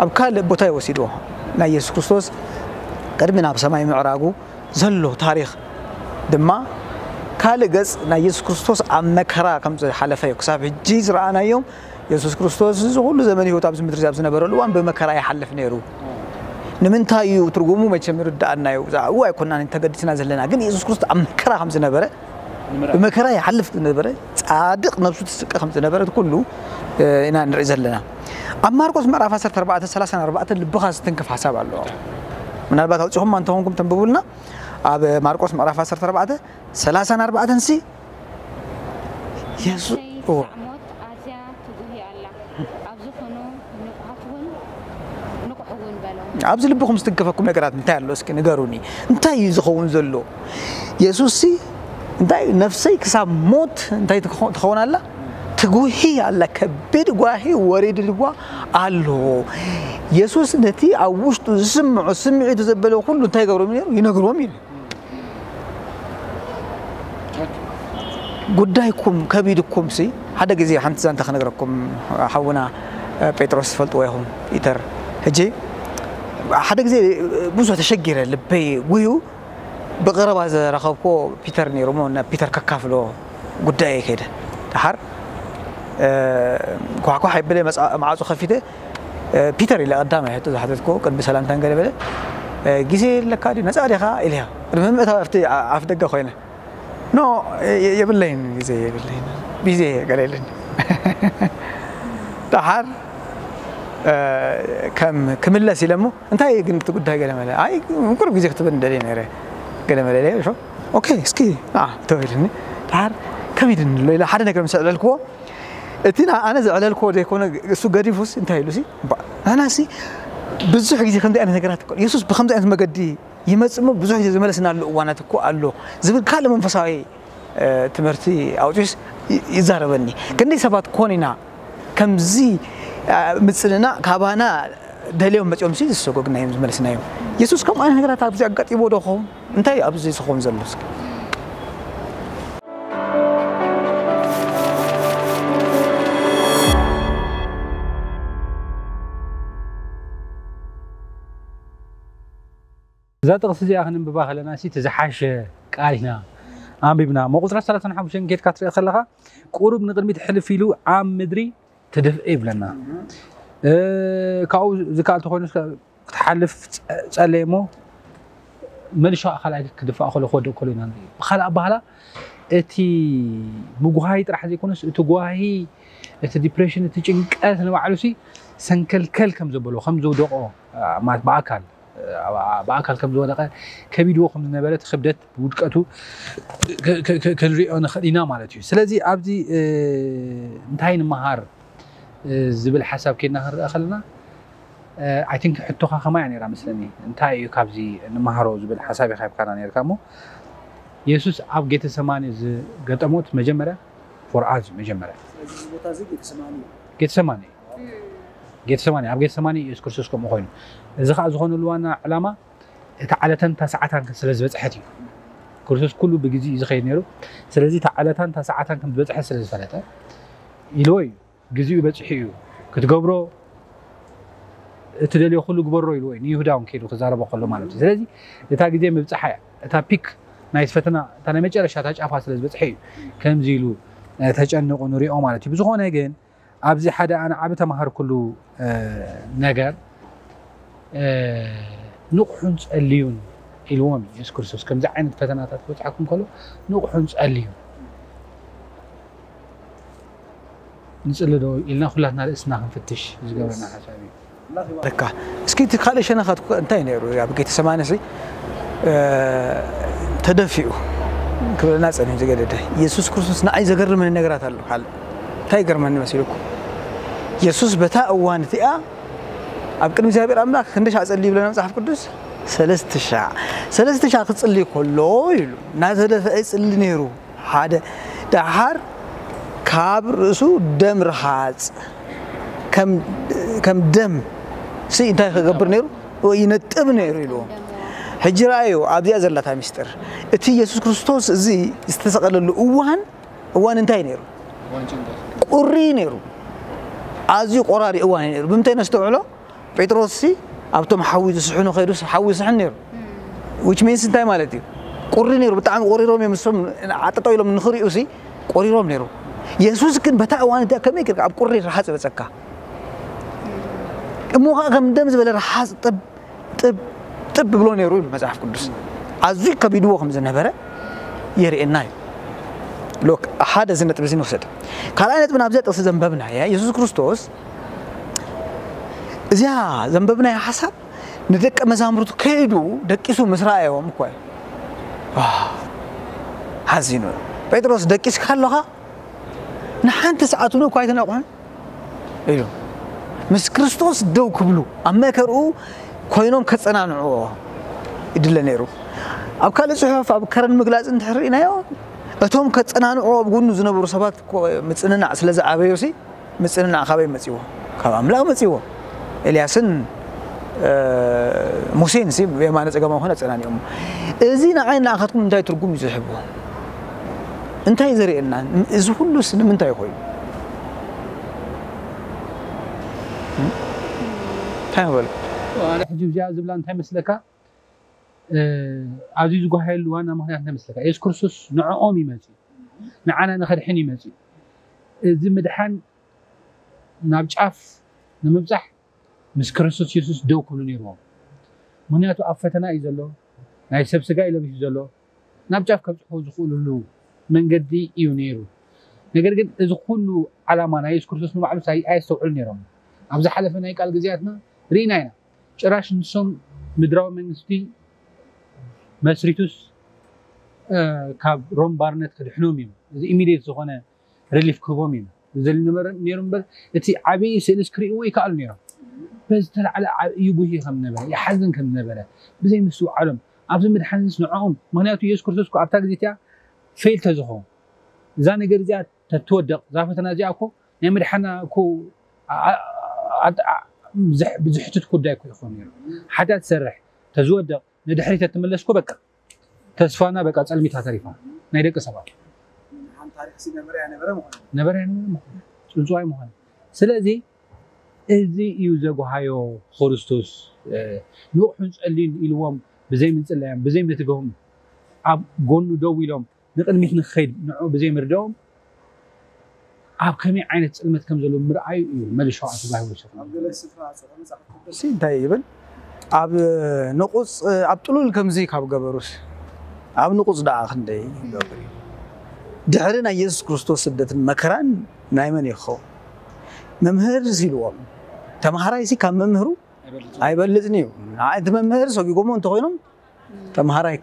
ኣብ ካልእ ቦታ እዩ ወሲድዎ። ናይ የሱስ ክርስቶስ ቅድሚ ናብ ሰማይ ምዕራጉ ዘሎ ታሪኽ ድማ ካልእ ገጽ ናይ የሱስ ክርስቶስ ኣብ መከራ ከም ዝሓለፈ እዩ። ክሳብ ሕጂ ዝረኣናዮም የሱስ ክርስቶስ እዚ ኩሉ ዘመን ህይወት ኣብዚ ምድሪ ኣብ ዝነበረሉ እዋን ብመከራ ይሓልፍ ነይሩ። ንምንታይ እዩ ትርጉሙ መቸም ይርዳኣና እዩ። ብዛዕባኡ ኣይኮናን ተገዲስና ዘለና ግን የሱስ ክርስቶስ ኣብ መከራ ከም ዝነበረ ብመከራ ይሓልፍ ዝነበረ ጻድቕ ነብሱ ትስቀ ከም ዝነበረት ኩሉ ኢና ንርኢ ዘለና። ኣብ ማርቆስ ምዕራፍ ዓሰርተ ኣርባዕተ ሰላሳ ኣርባዕተ ልብኻ ዝትንክፍ ሓሳብ ኣለዎ። ምናልባት ኣውፂኹም እንተኾንኩም ተንብቡልና ኣብ ማርቆስ ምዕራፍ ዓሰርተ ኣርባዕተ ሰላሳ ኣርባዕተ ሲ የሱ ሞት ኣዝያ ትጉሂ ኣላ። ኣብዚ ኩኑ ንቑሓት እውን ንቑሕ እውን በሎም። ኣብዚ ልብኹም ዝትንከፈኩም ነገራት እንታይ ኣሎ እስኪ ንገሩኒ። እንታይ እዩ ዝኸውን ዘሎ? የሱስ ሲ እንታይ ነፍሰይ ክሳብ ሞት እንታይ ትኾን ኣላ? ትጉሂ ኣላ። ከቢድ ጓሂ ወሪድልዋ ኣሎ። የሱስ ነቲ ኣብ ውሽጡ ዝስምዖ ስምዒቱ ዘበለ ኩሉ እንታይ ይገብሮም ነይሩ? ይነግሮም እዩ። ጉዳይኩም ከቢድኩም ሲ ሓደ ግዜ ሓንቲ ዛንታ ክነግረኩም ሓውና ጴጥሮስ ትፈልጥዎ ኢኹም ፒተር ሕጂ ሓደ ግዜ ብዙሕ ተሸጊረ ልበይ ጉዩ ብቐረባ ዝረኸብኮ ፒተር ነይሩ ሞ ናብ ፒተር ከካፍሎ ጉዳይ ከይደ ደሓር ኳሕኳሕ ይብለ መዓፁ ከፊተ ፒተር ኢለ ቀዳማይ ሕቶ ዝሓተትኮ ቅድሚ ሰላምታን ገለ በለ ግዜ ኣለካ ድዩ ነፃ ዲኻ ኢልያ ቅድሚ ምእታው ኣብቲ ኣፍ ደገ ኮይነ ኖ የብለይን ግዜ የብለይን ቢዜ ገለ ኢለኒ ደሓር ከም ክምለስ ኢለ እሞ እንታይ ግን እቲ ጉዳይ ገለ መለ ኣይ ቁሩብ ግዜ ክትበኒ ደልየ ነይረ ገለ መለ ኢለ ኦኬ እስኪ ተባሂልኒ ደሓር ከቢድኒ ኣሎ ኢለ ሓደ ነገር ምስ ኣዕለልክዎ እቲ ኣነ ዘዕለልክዎ ዘይኮነ እሱ ገዲፉስ እንታይ ኢሉ ሲ ኣናሲ ብዙሕ ግዜ ከምዚ ዓይነት ነገራት የሱስ ብከምዚ ዓይነት መገዲ ይመጽእ እሞ ብዙሕ ግዜ ዝመለስናሉ እዋናት እኮ ኣሎ ዝብል ካልእ መንፈሳዊ ትምህርቲ ኣውፂስ ይዛረበኒ። ክንደይ ሰባት ኮን ኢና ከምዚ ምፅንና ካባና ደልዮም መፅኦም ሲ ዝሰጎግና እዮም ዝመለስናዮም። የሱስ ከምኡ ዓይነት ነገራት ኣብዚ ኣጋጢሞ ዶ ኸውን? እንታይ ኣብዚ ዝኸውን ዘሎ እስኪ? እዛ ጥቕሲ እዚኣ ክንንብባ ከለና ሲ እቲ ዝሓሸ ቃል ኢና ኣንቢብና እሞ ቁፅሪ ሰላሳን ሓሙሽተን ጌድካ ትሪኦ ከለኻ ቁሩብ ንቕድሚት ሕልፍ ኢሉ ኣብ ምድሪ ትድፍእ ይብለና። ካብኡ ዝከኣል ተኮይኑ ክትሓልፍ ጸለየ እሞ መልሾ ኣካል ኣይክ ክድፋእ ከሎ ክወድቕ ከሎ ኢና ንርኢ። ብኻልእ ኣባህላ እቲ ምጉሃይ ጥራሕ ዘይኮነስ እቲ ጓሂ እቲ ዲፕሬሽን እቲ ጭንቀት ንባዕሉ ሲ ሰንከልከል ከም ዘበሎ ከም ዘውደቆ ማለት ብኣካል ብኣካል ከም ዝወደቀ ከቢድዎ ከም ዝነበረ እቲ ክብደት ውድቀቱ ክንሪኦ ንኽእል ኢና ማለት እዩ። ስለዚ ኣብዚ እንታይ ንምሃር ዝብል ሓሳብ ኬድና ክንርአ ከለና ኣይ ቲንክ ሕቶኻ ከማይ እያ ነራ መስለኒ እንታይ እዩ ካብዚ ንምሃሮ ዝብል ሓሳብ ኢኻ ሂብካና ነርካ እሞ የሱስ ኣብ ጌተሰማኒ ዝገጠሞት መጀመርያ ፎርኣዝ መጀመርያ ጌተሰማኒ ጌተሰማኒ ኣብ ጌተሰማኒ የሱስ ክርስቶስ ከምኡ ኮይኑ እዚ ከዓ ዝኾነሉ ዋና ዕላማ እታ ዓለታን እታ ሰዓታን ስለ ዝበፅሐት እዩ። ክርስቶስ ኩሉ ብግዜ እዩ ዝኸይድ ነይሩ። ስለዚ እታ ዓለታን እታ ሰዓታን ከም ዝበፅሐት ስለ ዝፈለጠ ኢልዎ እዩ። ግዜኡ በፂሑ እዩ። ክትገብሮ እትደልዮ ኩሉ ግበሮ ኢልዎ እዩ። ንይሁዳ እውን ከይዱ ክዛረቦ ከሎ ማለት እዩ። ስለዚ እታ ግዜ ምብፅሓ እያ። እታ ፒክ ናይ ፈተና እታ ናይ መጨረሻ እታ ጫፋ ስለ ዝበፅሐ እዩ ከምዚ ኢሉ ተጨንቑ ንሪኦ ማለት እዩ። ብዝኾነ ግን ኣብዚ ሓደ ኣነ ዓቢ ተማሃርኩሉ ነገር ንቑሑን ጸልዩን ኢልዎም የሱስ ክርስቶስ ከምዚ ዓይነት ፈተናታት ክበጽሓኩም ከሎ ንቑሑን ጸልዩን ንጽሊ ዶ ኢልና ኩላትና ርእስና ክንፍትሽ ዝገብረና ሓሳብ እዩ። ደካ እስኪ እቲ ካልእ ሸነኻት እንታይ ነይሩ ኣብ ጌተሰማኒ ሲ ተደፊኡ ክብለና ጸኒሑ ዝገደደ የሱስ ክርስቶስ ንዓይ ዘገርመኒ ነገራት ኣሎ ካልእ እንታይ ይገርመኒ መሲልኩም የሱስ በታ እዋን እቲኣ ኣብ ቅድሚ እግዚኣብሔር ኣምላኽ ክንደሻ ጸልዩ ይብለና መጽሓፍ ቅዱስ ሰለስተ ሻዕ ሰለስተ ሻዕ ክጽልይ ከሎ ኢሉ እናተደፍአ ይጽሊ ነይሩ ሓደ ደሓር ካብ ርእሱ ደም ርሃጽ ከም ደም ሲ እንታይ ክገብር ነይሩ ይነጥብ ነይሩ ኢልዎ ሕጂ ረኣዩ ኣብዚኣ ዘላታ ሚስጥር እቲ የሱስ ክርስቶስ እዚ ዝተሰቐለሉ እዋን እዋን እንታይ ነይሩ ቁሪ ነይሩ ኣዝዩ ቆራሪ እዋን ነይሩ ብምንታይ ነስተውዕሎ ጴጥሮስ ሲ ኣብቶም ሓዊ ዝስሕኑ ከይዱ ሓዊ ይስሕን ነይሩ which means እንታይ ማለት እዩ ቁሪ ነይሩ ብጣዕሚ ቆሪሮም እዮም እሶም ዓጠጠው ኢሎም ንኽሪኡ ሲ ቆሪሮም ነይሩ የሱስ ግን በታ እዋን እቲኣ ከመይ ጌርካ ኣብ ቁሪ ርሓፅ ይበፀካ እሞ ከዓ ከም ደም ዝበለ ርሓፅ ጥብ ጥብ ጥብ ብሎ ነይሩ ይብል መፅሓፍ ቅዱስ ኣዝዩ ከቢድዎ ከም ዝነበረ የርእየና እዩ ሎክ ሓደ እዚ ነጥቢ እዚ ንውሰድ ካልኣይ ነጥቢ ናብዚኣ ጥቕሲ ዘንበብናያ የሱስ ክርስቶስ እዚኣ ዘንበብናያ ሓሳብ ንደቀ መዛሙርቱ ከይዱ ደቂሱ ምስ ረኣዮም እኮ እዩ ሓዚኑ ጴጥሮስ ደቂስካ ኣለኻ ንሓንቲ ሰዓት እውን እኳ ኣይተነቑሕን እዩ ምስ ክርስቶስ ደው ክብሉ ኣብ መከርኡ ኮይኖም ከፀናንዕዎ ይድለ ነይሩ ኣብ ካልእ ፅሑፍ ኣብ ከረን ምግላፅ እንድሕር ርኢናዮ እቶም ከፀናንዕዎ ኣብ ጎኑ ዝነበሩ ሰባት ምፅንናዕ ስለ ዝዓበዮሲ ምፅንናዕ ካበይ መፅዎ ካብ ኣምላኽ መፅዎ ኤልያስን ሙሴን ሲ የማነ ፀገማም ኾነ ኣፀናኒኦም እዚ ንዓይ ንኣኻትኩም እንታይ ትርጉም እዩ ዝሕብዎ እንታይ ዘርእየና እዚ ኩሉስ ንምንታይ ኮይኑ እንታይ በል ሕጂ እዚኣ ዝብላ እንታይ መስለካ ኣብዚ ዝጓሃየሉ ዋና ምክንያት እንታይ መስለካ የሱስ ክርስቶስ ንዕኦም ይመፅእ ንዓና ንኸድሕን ይመፅእ እዚ ምድሓን ናብ ጫፍ ንምብፃሕ ምስ ክርስቶስ የሱስ ደው ክብሉ ነይርዎም ምክንያቱ ኣብ ፈተና እዩ ዘሎ ናይ ሰብ ስጋ እዩ ለቢሱ ዘሎ ናብ ጫፍ ከብፅሑ ዝኽእልሉ መንገዲ እዩ ነይሩ ነገር ግን እዚ ኩሉ ዓላማ ናይ የሱስ ክርስቶስ ንባዕሉ ኣየስተውዕሉ ነይሮም ኣብ ዝሓለፈ ናይ ቃል ግዜያትና ርኢና ኢና ጭራሽ ንሶም ምድራዊ መንግስቲ መስሪቱስ ካብ ሮም ባርነት ክድሕኖም እዩ እዚ ኢሚድየት ዝኾነ ሪሊፍ ክህቦም እዩ ዝደሊ ነበረ ነይሩ እምበር እቲ ዓብዪ ስእልስ ክርእይዎ ይከኣሉ ነይሮም በዝተላዕለ ዓብዪ ጉሂ ከም ነበረ ይሓዝን ከም ነበረ ብዘይ ምስትውዓሎም ኣብዚ ምድሓንስ ንዕኦም ምክንያቱ የሱስ ክርስቶስ ኣብታ ግዜ እቲኣ ፌል ተዝኸውን እዛ ነገር እዚኣ ተትወደቕ እዛ ፈተና እዚኣ እኮ ናይ ምድሓና እኮ ዝሕትት ጉዳይ እኮ ይኾን ነይሩ ሓጢኣት ትሰርሕ ተዝወደቕ ንድሕሪት ተትምለስኮ በቃ ተስፋና በቃ ፀልሚታ ተሪፋ ናይ ደቂ ሰባት ነበረ ነበረ ምኾነ ፅንፅዋይ ምኾነ ስለዚ እዚ እዩ ዘጓሃዮ ክርስቶስ ንቑሑን ፀሊን ኢልዎም ብዘይ ምጽላዮም ብዘይ ምትግሆም ኣብ ጎኑ ደው ኢሎም ንቕድሚት ንክኸይድ ንዑ ብዘይ ምርዳኦም ኣብ ከመይ ዓይነት ጽልመት ከም ዘሎ ምርኣዩ እዩ መለሻ ኣቲ ባይብል ሸፍ ኣብ ገለ ስፍራ ጽሑፍ መጽሓፍ ቅዱስ እንታይ ይብል? ኣብ ንቁጽ ኣብ ጥሉል ከምዚ ካብ ገበሩስ ኣብ ንቁጽ ደኣ ክንደይ ይገብር እዩ? ድሕሪ ናይ የሱስ ክርስቶስ ስደትን መከራን ናይ መን ይኸውን? መምህር ኢልዎም ተምሃራይሲ ካብ መምህሩ ኣይበልጽን እዩ። እቲ መምህር ሰጒጎሞ እንተኾይኖም ተምሃራይ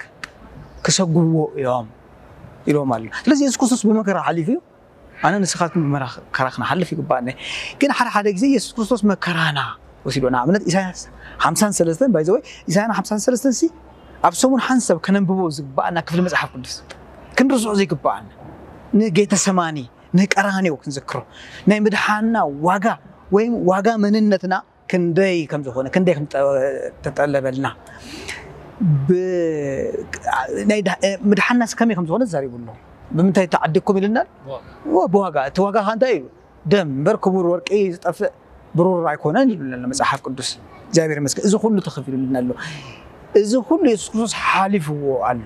ክሰጉዎ እዮም ኢሎም ኣሎ። ስለዚ የሱስ ክርስቶስ ብመከራ ሓሊፉ እዩ። ኣነ ንስኻትኩም ብመከራ ክንሓልፍ ይግባኣኒ። ግን ሓደ ሓደ ግዜ የሱስ ክርስቶስ መከራና ወሲዶ ንኣብነት ኢሳያስ ሓምሳን ሰለስተን ባይዘወይ ኢሳያና ሓምሳን ሰለስተን ሲ ኣብ ሰሙን ሓንሳብ ከነንብቦ ዝግባኣና ክፍሊ መጽሓፍ ቅዱስ ክንርስዑ ዘይግባኣና ንጌተሰማኒ ንቀራንዮ ክንዝክሮ ናይ ምድሓና ዋጋ ወይም ዋጋ መንነትና ክንደይ ከም ዝኾነ ክንደይ ከም ተጠለበልና ምድሓናስ ከመይ ከም ዝኾነ ተዛሪቡ ኣሎ። ብምንታይ ተዓዲግኩም ኢልናል? ብዋጋ። እቲ ዋጋ ከ እንታይ እዩ? ደም እምበር ክቡር ወርቂ ዝጠፍእ ብሩር ኣይኮነን ይብለና መፅሓፍ ቅዱስ። እግዚኣብሔር ይመስገን እዚ ኩሉ ተኸፊሉልና ኣሎ። እዚ ኩሉ የሱስ ክርስቶስ ሓሊፍዎ ኣሎ።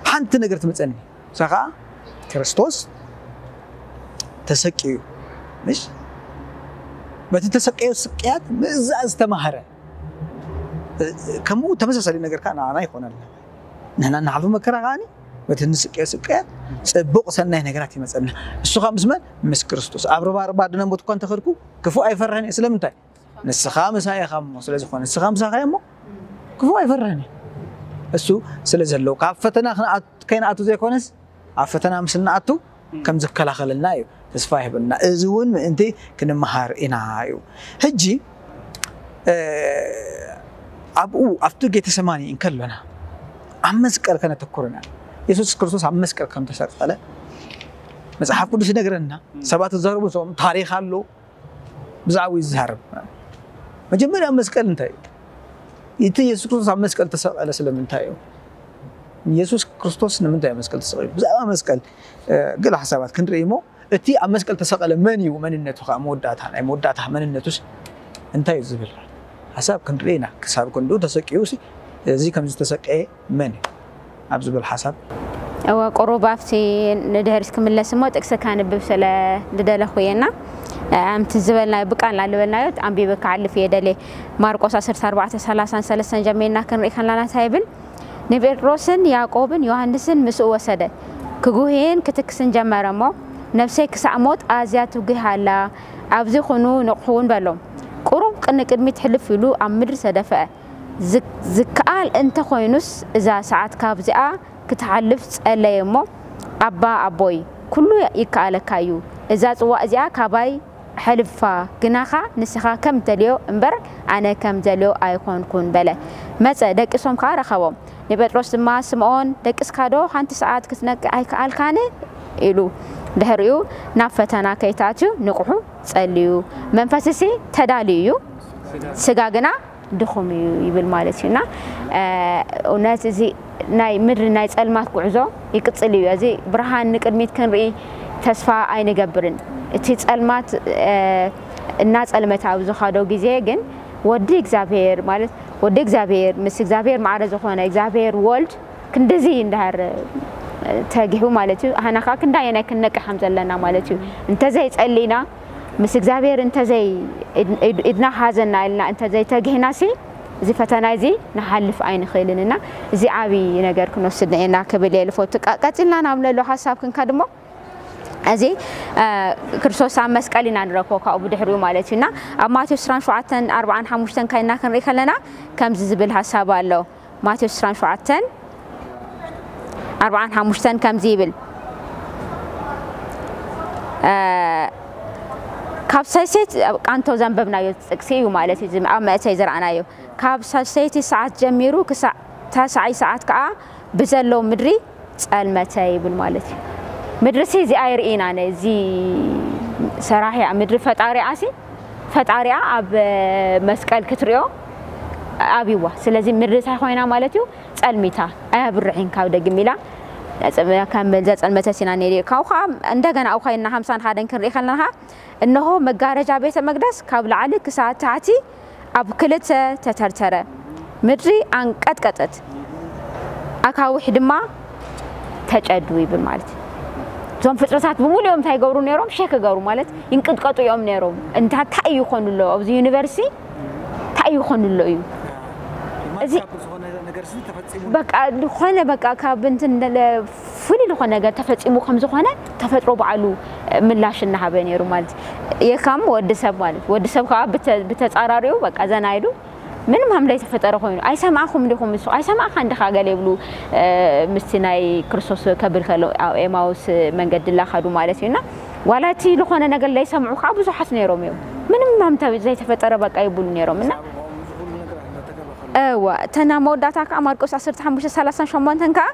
ሓንቲ ነገር ትመፀኒ እሳ ከዓ ክርስቶስ ተሰቅዩ ምሽ በቲ ተሰቀዮ ስቅያት ምእዛዝ ዝተማህረ ከምኡ ተመሳሳሊ ነገር ከዓ ንዓና ይኾነልና። ንሕና እናሓልፎ መከራ ከዓኒ በቲ ንስቅዮ ስቅያት ፅቡቕ ሰናይ ነገራት ይመፀና። እሱ ከዓ ምስ መን? ምስ ክርስቶስ። ኣብ ርባ ርባ ድነ ሞት እኳ እንተኸድኩ ክፉእ ኣይፈርሕን እየ። ስለምንታይ? ንስኻ ምሳይ ኢኻ እሞ ስለ ዝኾነ ንስኻ ምሳኻ እሞ ክፉእ ኣይፈርሕን እየ። እሱ ስለ ዘለዎ ካብ ፈተና ከይንኣቱ ዘይኮነስ ኣብ ፈተና ምስ እንኣቱ ከም ዝከላኸለልና እዩ ተስፋ ይህበና። እዚ እውን ምእንቲ ክንመሃር ኢና እዩ። ሕጂ ኣብኡ ኣብቲ ጌተሰማኒ እንከሎና ኣብ መስቀል ከነተኩር ኢና። የሱስ ክርስቶስ ኣብ መስቀል ከም ተሰቀለ መጽሓፍ ቅዱስ ይነግረና። ሰባት ዝዛረቡ ንሶም ታሪኽ ኣሎ ብዛዕባኡ ይዛረብ። መጀመርያ መስቀል እንታይ እዩ? እቲ የሱስ ክርስቶስ ኣብ መስቀል ተሰቀለ ስለምንታይ እዩ? የሱስ ክርስቶስ ንምንታይ ኣብ መስቀል ተሰቂሉ? ብዛዕባ መስቀል ገለ ሓሳባት ክንርኢ እሞ እቲ ኣብ መስቀል ተሰቀለ መን እዩ? መንነቱ ከዓ መወዳእታ ናይ መወዳእታ መንነቱስ እንታይ እዩ ዝብል ሓሳብ ክንርኢ ኢና። ክሳብ ክንድኡ ተሰቂዩ እዚ ከም ዝተሰቀየ መን እዩ ኣብ ዝብል ሓሳብ እወ ቁሩብ ኣብቲ ንድሕሪት ክምለስ እሞ ጥቅሲ ከንብብ ስለ ዝደለኹ እየ እና ኣምቲ ዝበልናዮ ብቃልና ዝበልናዮ ኣንቢበ ክዓልፍ እየ ደልየ ማርቆስ ዓሰርተ ኣርባዕተ ሰላሳን ሰለስተን ጀሚርና ክንርኢ ከለና እንታይ ይብል ንጴጥሮስን ያዕቆብን ዮሃንስን ምስኡ ወሰደ ክጉህይን ክትክስን ጀመረ እሞ ነፍሰይ ክሳዕ ሞት ኣዝያ ትጒህ ኣላ ኣብዚ ኩኑ ንቕሑ እውን በሎም ቁሩብ ንቅድሚት ሕልፍ ኢሉ ኣብ ምድሪ ተደፍአ ዝከኣል እንተ ኾይኑስ እዛ ሰዓት ካብዚኣ ክትሓልፍ ጸለየ እሞ ኣባ ኣቦይ ኩሉ ይከኣለካ እዩ እዛ ጽዋእ እዚኣ ካባይ ሕልፋ ግናኻ ንስኻ ከም እትደልዮ እምበር ኣነ ከም ዝደልዮ ኣይኮንኩን በለ መጸ ደቂሶም ከኣ ረኸቦም ንጴጥሮስ ድማ ስምኦን ደቂስካ ዶ ሓንቲ ሰዓት ክትነቅዕ ኣይከኣልካን ኢሉ ድሕሪኡ ናብ ፈተና ከይትኣትዩ ንቕሑ ጸልዩ መንፈስሲ ተዳልዩ እዩ ስጋ ግና ድኹም እዩ ይብል ማለት እዩ እና እውነት እዚ ናይ ምድሪ ናይ ፀልማት ጉዕዞ ይቅፅል እዩ እዚ ብርሃን ንቅድሚት ክንርኢ ተስፋ ኣይንገብርን እቲ ፀልማት እናፀልመተ ኣብ ዝኸዶ ግዜ ግን ወዲ እግዚኣብሔር ማለት ወዲ እግዚኣብሔር ምስ እግዚኣብሔር ማዕረ ዝኾነ እግዚኣብሔር ወልድ ክንድዚ እንዳሃር ተጊሑ ማለት እዩ ኣሃና ከዓ ክንዳየናይ ክንነቅሕ ከም ዘለና ማለት እዩ እንተዘይፀሊና ምስ እግዚኣብሔር እንተዘይ ኢድና ሃዘና ኢልና እንተዘይተጊህና ሲ እዚ ፈተና እዚ ንሓልፍ ኣይንኽእልን እና እዚ ዓብዪ ነገር ክንወስድ ንኤና ክብል እየ ልፈቱ ቀፂልና ናብ ለሎ ሓሳብ ክንከድ እሞ እዚ ክርስቶስ ኣብ መስቀል ኢና ንረክቦ ካብኡ ብድሕሪኡ ማለት እዩ እና ኣብ ማቴዎስ ስራን ሸውዓተን ኣርባዓን ሓሙሽተን ካይና ክንርኢ ከለና ከምዚ ዝብል ሓሳብ ኣሎ ማቴዎስ ዕስራን ሸውዓተን ኣርባዓን ሓሙሽተን ከምዚ ይብል ካብ ሰልሰይቲ ቃንቶ ዘንበብናዮ ጥቅሲ እዩ ማለት እዩ ኣብ መእተይ ዝረኣናዮ ካብ ሰልሰይቲ ሰዓት ጀሚሩ ክሳዕ ተሳዒ ሰዓት ከዓ ብዘሎ ምድሪ ጸልመተ ይብል ማለት እዩ ምድሪ ሲ እዚኣ ይርኢና ነዚ ሰራሒ ምድሪ ፈጣሪኣ ሲ ፈጣሪኣ ኣብ መስቀል ክትሪኦ ኣብይዋ ስለዚ ምድሪ እንታይ ኮይና ማለት እዩ ጸልሚታ ኣያብርሕን ካብ ደግም ኢላ ከም ዘጸልመተት ኢና ንርኢ ካብኡ ከዓ እንደገና ኣብ ኮይንና ሓምሳን ሓደን ክንርኢ ከለና ከዓ እነሆ መጋረጃ ቤተ መቅደስ ካብ ላዕሊ ክሳብ ታሕቲ ኣብ ክልተ ተተርተረ ምድሪ ኣንቀጥቀጠት፣ ኣካውሕ ድማ ተጨዱ ይብል ማለት እዩ። እዞም ፍጥረታት ብምሉኦም እንታይ ይገብሩ ነይሮም? ሸክ ይገብሩ ማለት ይንቅጥቀጡ እዮም ነይሮም። እንታ እንታይ እዩ ይኾኑ ኣሎ ኣብዚ ዩኒቨርሲ? እንታይ እዩ ይኾኑ ኣሎ እዩ እዚ ዝኾነ ነገር ሲ ተፈጺሙ በቃ ዝኾነ በቃ ካብ እንትን ለ- ፍሉይ ዝኾነ ነገር ተፈጺሙ ከም ዝኾነ ተፈጥሮ ባዕሉ ምላሽ እናሃበ ነይሩ ማለት የካም ወዲ ሰብ ማለት ወዲ ሰብ ከዓ ብተ- ብተጻራሪኡ በቃ ዘና ኢሉ ምንም ከም ዘይተፈጠረ ኮይኑ ኣይሰማዕኹም ዲኹም ምስ ኣይሰማዕካ እንዲኻ ገለ ይብሉ ምስቲ ናይ ክርስቶስ ከብል ከሎ ኣብ ኤማውስ መንገዲ ላኸዱ ማለት እዩና ዋላ እቲ ዝኾነ ነገር ለይሰምዑ ከዓ ብዙሓት ነይሮም እዮም ምንም ከም ዘይተፈጠረ በቃ ይብሉ ነይሮም እና እዋ እተና መወዳእታ ከዓ ማርቆስ ዓሰርተ ሓሙሽተ ሰላሳን ሸሞንተን ከዓ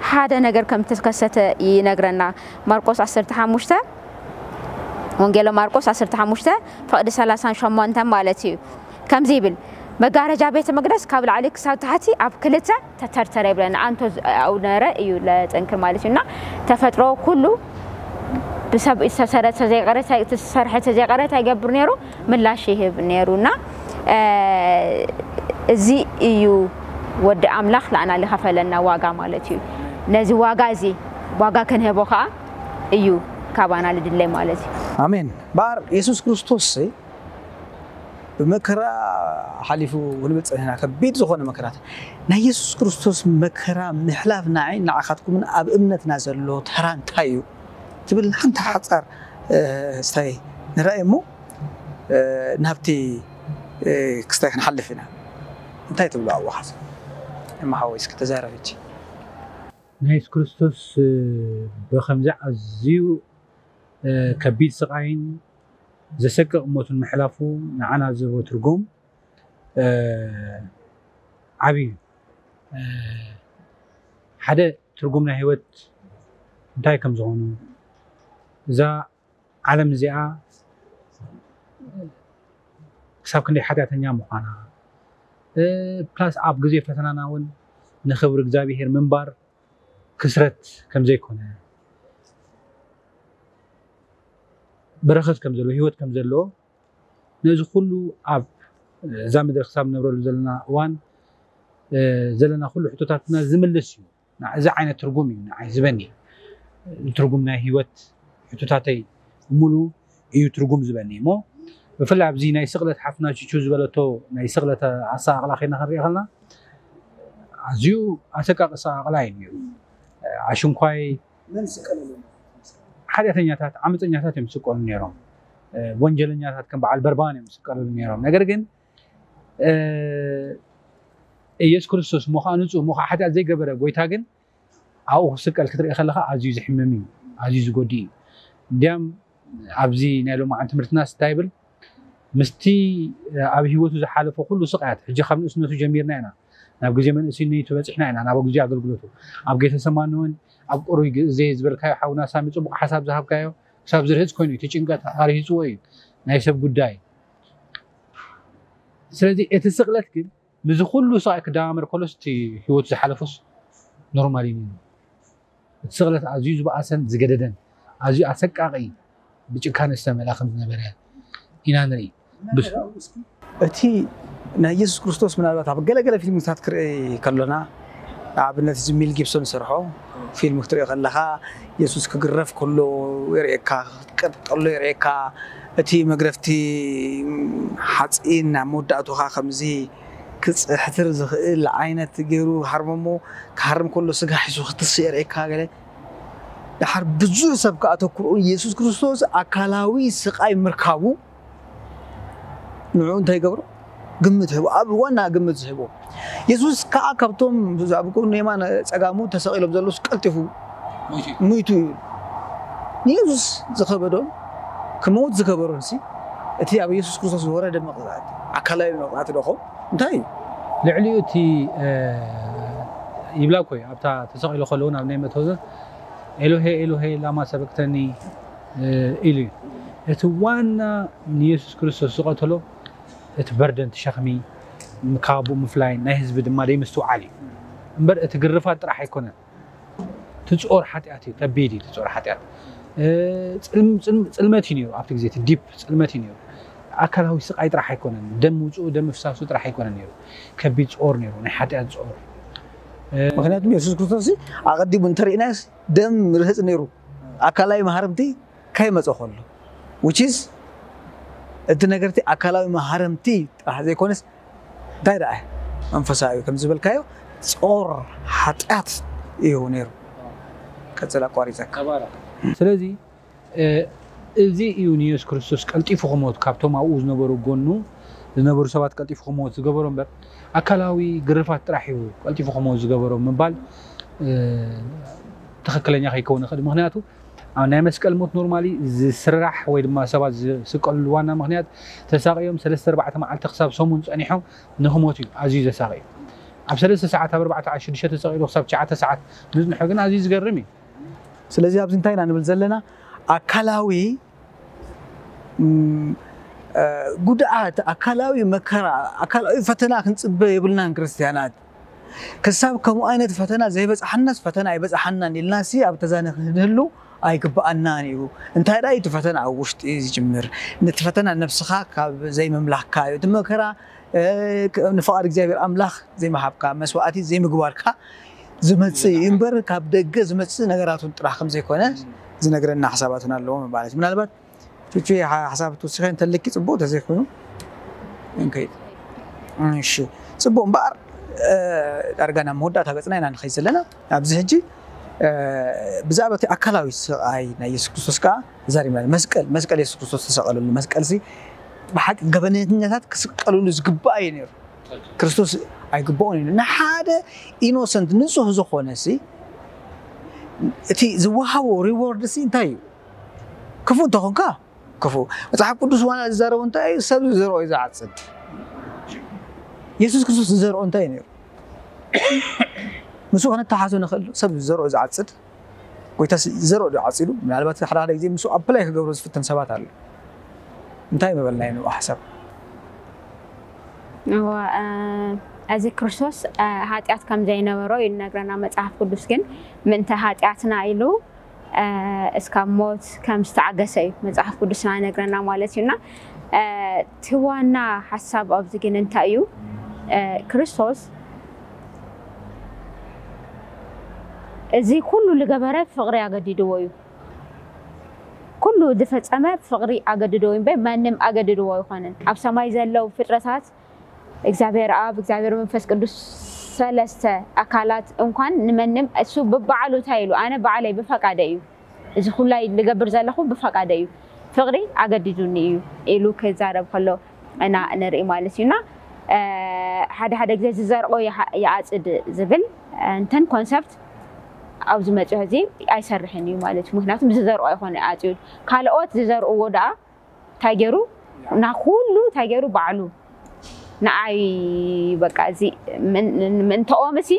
ሓደ ነገር ከም ተከሰተ ይነግረና። ማርቆስ ዓሰርተ ሓሙሽተ ወንጌለ ማርቆስ ዓሰርተ ሓሙሽተ ፍቕዲ ሰላሳን ሸሞንተን ማለት እዩ። ከምዚ ይብል መጋረጃ ቤተ መቅደስ ካብ ላዕሊ ክሳብ ታሕቲ ኣብ ክልተ ተተርተረ ይብለና። ኣንቶ ኣውነረ እዩ ለጠንክር ማለት እዩ እና ተፈጥሮ ኩሉ ብሰብ ዝተሰረተ ዘይቀረ ዝተሰርሐ ተዘይቀረ እንታይ ይገብር ነይሩ ምላሽ ይህብ ነይሩ እና እዚ እዩ ወዲ ኣምላኽ ለኣና ልኸፈለና ዋጋ ማለት እዩ። ነዚ ዋጋ እዚ ዋጋ ክንህቦ ከዓ እዩ ካባና ልድለይ ማለት እዩ። ኣሜን። እምበኣር የሱስ ክርስቶስ ብመከራ ሓሊፉ ክንብል ጸኒሕና፣ ከቢድ ዝኾነ መከራታት። ናይ የሱስ ክርስቶስ መከራ ምሕላፍ ንዓይን ንዓኻትኩምን ኣብ እምነትና ዘሎ ተራ እንታይ እዩ ትብል ሓንቲ ሓጻር ስታይ ንርኣይ እሞ ናብቲ ክስታይ ክንሓልፍ ኢና። እንታይ ትብሉ ኣብኡ ሓሳብ? እማ ሓወይ እስኪ ተዛረብ ሕጂ። ናይ የሱስ ክርስቶስ ብኸምዚ ኣዝዩ ከቢድ ስቓይን ዘሰቅቕ ሞትን ምሕላፉ ንዓና ዝህቦ ትርጉም ዓብዪ እዩ። ሓደ ትርጉም ናይ ህይወት እንታይ ከም ዝኾኑ እዛ ዓለም እዚኣ ክሳብ ክንደይ ሓጢኣተኛ ምዃና ፕላስ ኣብ ግዜ ፈተናና እውን ንኽብሪ እግዚኣብሄር ምንባር ክስረት ከም ዘይኮነ በረኸት ከም ዘለዎ ህይወት ከም ዘለዎ ነዚ ኩሉ ኣብ እዛ ምድሪ ክሳብ ንነብረሉ ዘለና እዋን ዘለና ኩሉ ሕቶታትና ዝምልስ እዩ። እዚ ዓይነት ትርጉም እዩ ንዓይ ዝበኒ ትርጉም ናይ ህይወት ሕቶታተይ ሙሉ እዩ ትርጉም ዝበኒ እሞ ብፍላይ ኣብዚ ናይ ስቕለት ሓፍትና ችቹ ዝበለቶ ናይ ስቕለት ኣሰቃቕላ ከይና ክንሪኦ ከለና ኣዝዩ ኣሰቃቂ ኣሰቃቕላ እዩ ነይሩ። ኣሽንኳይ ሓጢኣተኛታት ዓመፀኛታት እዮም ዝስቀሉ ነይሮም። ወንጀለኛታት ከም በዓል በርባን እዮም ዝስቀሉ ነይሮም። ነገር ግን ኢየሱስ ክርስቶስ እሞ ከዓ ንፁህ እሞ ከዓ ሓጢኣት ዘይገበረ ጎይታ ግን ኣብኡ ክስቀል ክትርኢ ከለካ ኣዝዩ ዝሕምም እዩ፣ ኣዝዩ ዝጎዲ እዩ። እንዲያም ኣብዚ ናይ ሎማዓን ትምህርትና ስታይ ብል ምስቲ ኣብ ህይወቱ ዝሓለፎ ኩሉ ስቃያት ሕጂ ካብ ንእስነቱ ጀሚርና ኢና ናብ ግዜ መንእስነቱ በፂሕና ኢና ናብ ግዜ ኣገልግሎቱ ኣብ ጌተሰማኒ እውን ኣብ ቁሩይ ግዜ ዝበልካዮ ሓውና ሳሚ ፅቡቅ ሓሳብ ዝሃብካዮ ክሳብ ዝርህፅ ኮይኑ እቲ ጭንቀት ኣርሂፅዎ እዩ ናይ ሰብ ጉዳይ ስለዚ እቲ ስቅለት ግን ምዚ ኩሉ ስቓይ ክደማመር ከሎስ እቲ ህይወቱ ዝሓለፎስ ኖርማል እዩ ነይሩ። እቲ ስቕለት ኣዝዩ ዝበኣሰን ዝገደደን ኣዝዩ ኣሰቃቒ ብጭካነ ዝተመልኣ ከም ዝነበረ ኢና ንርኢ። እቲ ናይ ኢየሱስ ክርስቶስ ምናልባት ኣብ ገለገለ ፊልምታት ክርኢ ከሎና ንኣብነት እዚ ሚል ጊብሶን ዝሰርሖ ፊልም ክትሪኦ ከለኻ የሱስ ክግረፍ ከሎ የርእየካ፣ ክትቀጥቀሎ የርእየካ፣ እቲ መግረፍቲ ሓፂን ናብ መወዳእቱ ከዓ ከምዚ ክፅሕትር ዝኽእል ዓይነት ገይሩ ሃርሞሞ ክሃርም ከሎ ስጋ ሒሱ ክትስ የርእየካ ገለ። ደሓር ብዙሕ ሰብ ከዓ ኣተኩርኡ የሱስ ክርስቶስ ኣካላዊ ስቃይ ምርካቡ ንዑ እንታይ ይገብሮ? ግምት ህቦ ኣብ ዋና ግምት ዝህቦ የሱስ ከዓ ካብቶም ኣብ ጎኑ የማን ፀጋሙ ተሰቒሎም ዘለውስ ቀልጢፉ ሙይቱ እዩ። ንየሱስ ዝኸበዶን ክመውት ዝገበሮን ሲ እቲ ኣብ የሱስ ክርስቶስ ዝወረደ መቕፃዕቲ ኣካላዊ መቕፃዕቲ ዶ ኾን እንታይ እዩ? ልዕሊኡ እቲ ይብላ እኮ እዩ ኣብታ ተሰቒሉ ከለውን ኣብ ናይ መትወዘ ኤሎሄ ኤሎሄ ላማ ሰበክተኒ ኢሉ እዩ። እቲ ዋና ንየሱስ ክርስቶስ ዝቐተሎ እቲ በርደን እቲ ሸኽሚ ካብኡ ምፍላይ ናይ ህዝቢ ድማ ደይምስትውዓል እዩ እምበር እቲ ግርፋት ጥራሕ ኣይኮነን። ትፅኦር ሓጢኣት እዩ ከቢድ እዩ ትፅኦር ሓጢኣት። ፅልመት እዩ ነይሩ ኣብቲ ግዜ እቲ ዲፕ ፅልመት እዩ ነይሩ። ኣካላዊ ስቓይ ጥራሕ ኣይኮነን፣ ደም ምውፅኡ፣ ደም ምፍሳሱ ጥራሕ ኣይኮነን ነይሩ። ከቢድ ጾር ነይሩ፣ ናይ ሓጢኣት ጾር። ምክንያቱም የሱስ ክርስቶስ ኣቐዲሙ እንተርኢናስ ደም ርህፅ ነይሩ፣ ኣካላዊ መሃረምቲ ከይመፀ ከሎ፣ which is እቲ ነገርቲ ኣካላዊ መሃረምቲ ጥራሕ ዘይኮነስ እንታይ ደኣ መንፈሳዊ ከም ዝበልካዮ ጾር ሓጢኣት እዩ ነይሩ። ቀፅል ኣቋሪፀካ። ስለዚ እዚ እዩ ንየሱስ ክርስቶስ ቀልጢፉ ክሞት፣ ካብቶም ኣብኡ ዝነበሩ ጎኑ ዝነበሩ ሰባት ቀልጢፉ ክሞት ዝገበሮ እምበር ኣካላዊ ግርፋት ጥራሕ እዩ ቀልጢፉ ክሞት ዝገበሮ ምባል ትኽክለኛ ከይከውን ይኽእል። ምክንያቱ ኣብ ናይ መስቀል ሞት ኖርማሊ ዝስራሕ ወይ ድማ ሰባት ዝስቀልሉ ዋና ምክንያት ተሳቂዮም ሰለስተ ኣርባዕተ መዓልቲ ክሳብ ሰሙን ፀኒሖም ንክሞት እዩ ኣዝዩ ዘሳቂ። ኣብ ሰለስተ ሰዓት ኣብ ኣርባዕተ ዓሽ ሽዱሽተ ተሰቂሉ ክሳብ ትሽዓተ ሰዓት ምዝንሖ ግን ኣዝዩ ዝገርም እዩ። ስለዚ ኣብዚ እንታይ ኢና ንብል ዘለና? ኣካላዊ ጉድኣት፣ ኣካላዊ መከራ፣ ኣካላዊ ፈተና ክንፅበ የብልናን ክርስትያናት። ክሳብ ከምኡ ዓይነት ፈተና ዘይበፅሓናስ ፈተና ኣይበፅሓናን ኢልና ሲ ኣብ ተዛነ ክንህሉ ኣይግብኣናን እዩ። እንታይ ደኣ እቲ ፈተና ኣብ ውሽጢ ዝጅምር፣ ነቲ ፈተና ነብስኻ ካብ ዘይምምላኽካ እዩ። እቲ መከራ ንፍቓድ እግዚኣብሔር ኣምላኽ ዘይምሃብካ፣ መስዋእቲ ዘይምግባርካ ዝመፅእ እዩ እምበር ካብ ደገ ዝመፅእ ነገራት እውን ጥራሕ ከም ዘይኮነ ዝነግረና ሓሳባት እውን ኣለዎ ማለት እዩ። ምናልባት ቹቹ ሓሳብ ትውስኸ እንተልኪ ፅቡቅ ተዘይኮይኑ እንከይድ። እሺ፣ ፅቡቅ እምበኣር ዳርጋ ናብ መወዳእታ ገፅና ኢና ንኸይድ ዘለና። ኣብዚ ሕጂ ብዛዕባ እቲ ኣካላዊ ስቃይ ናይ የሱስ ክርስቶስ ከዓ ተዛሪብና። መስቀል መስቀል የሱስ ክርስቶስ ተሰቀለሉ መስቀል ሲ ብሓቂ ገበነኛታት ክስቀልሉ ዝግባእ እዩ ነይሩ። ክርስቶስ ኣይግባኦን እዩ። ንሓደ ኢኖሰንት ንፁህ ዝኾነ ሲ እቲ ዝወሃቦ ሪዎርድ ሲ እንታይ እዩ? ክፉእ እንተኾንካ ክፉእ። መፅሓፍ ቅዱስ ዋና ዝዛረቦ እንታይ እዩ? ሰብ ዝዘርኦ እዩ ዝዓፅድ። የሱስ ክርስቶስ ዝዘርኦ እንታይ እዩ ነይሩ? ምስኡ ከነተሓዞ ንኽእል። ሰብ ዝዘርኦ እዩ ዝዓፅድ። ጎይታ ዝዘርኦ ዶ ዓፂዱ? ምናልባት ሓደ ሓደ ግዜ ምስኡ ኣፕላይ ክገብሮ ዝፍትን ሰባት ኣሎ። እንታይ ምበልናዮ ንኡ ሓሳብ? እዚ ክርስቶስ ሓጢኣት ከም ዘይነበሮ እዩ ዝነግረና መፅሓፍ ቅዱስ። ግን ምእንተ ሓጢኣትና ኢሉ እስካብ ሞት ከም ዝተዓገሰ እዩ መፅሓፍ ቅዱስና ነግረና ማለት እዩና። እቲ ዋና ሓሳብ ኣብዚ ግን እንታይ እዩ? ክርስቶስ እዚ ኩሉ ዝገበረ ፍቕሪ ኣገዲድዎ እዩ። ኩሉ ዝፈፀመ ፍቕሪ ኣገድድዎ እዩ እምበር ማንም ኣገድድዎ ኣይኮነን። ኣብ ሰማይ ዘለዉ ፍጥረታት እግዚኣብሔር ኣብ እግዚኣብሔር መንፈስ ቅዱስ ሰለስተ ኣካላት እንኳን ንመንም እሱ ብባዕሉ እንታይ ኢሉ ኣነ ባዕለይ ብፈቃደ እዩ እዚ ኩላይ ልገብር ዘለኹ ብፈቃደ እዩ ፍቅሪ ኣገዲዱኒ እዩ ኢሉ ክዛረብ ከሎ እና ንርኢ ማለት እዩና ሓደ ሓደ ግዜ ዝዘርኦ ይዓፅድ ዝብል እንተን ኮንሰፕት ኣብዚ መፅዮ እዚ ኣይሰርሕን እዩ ማለት እዩ ምክንያቱም ዝዘርኦ ይኮነ ኣፅዩ ካልኦት ዝዘርእዎ ደኣ እንታይ ገይሩ ናኩሉ እንታይ ገይሩ ባዕሉ ንዓይ በቃ እዚ ምእንተኦም እሲ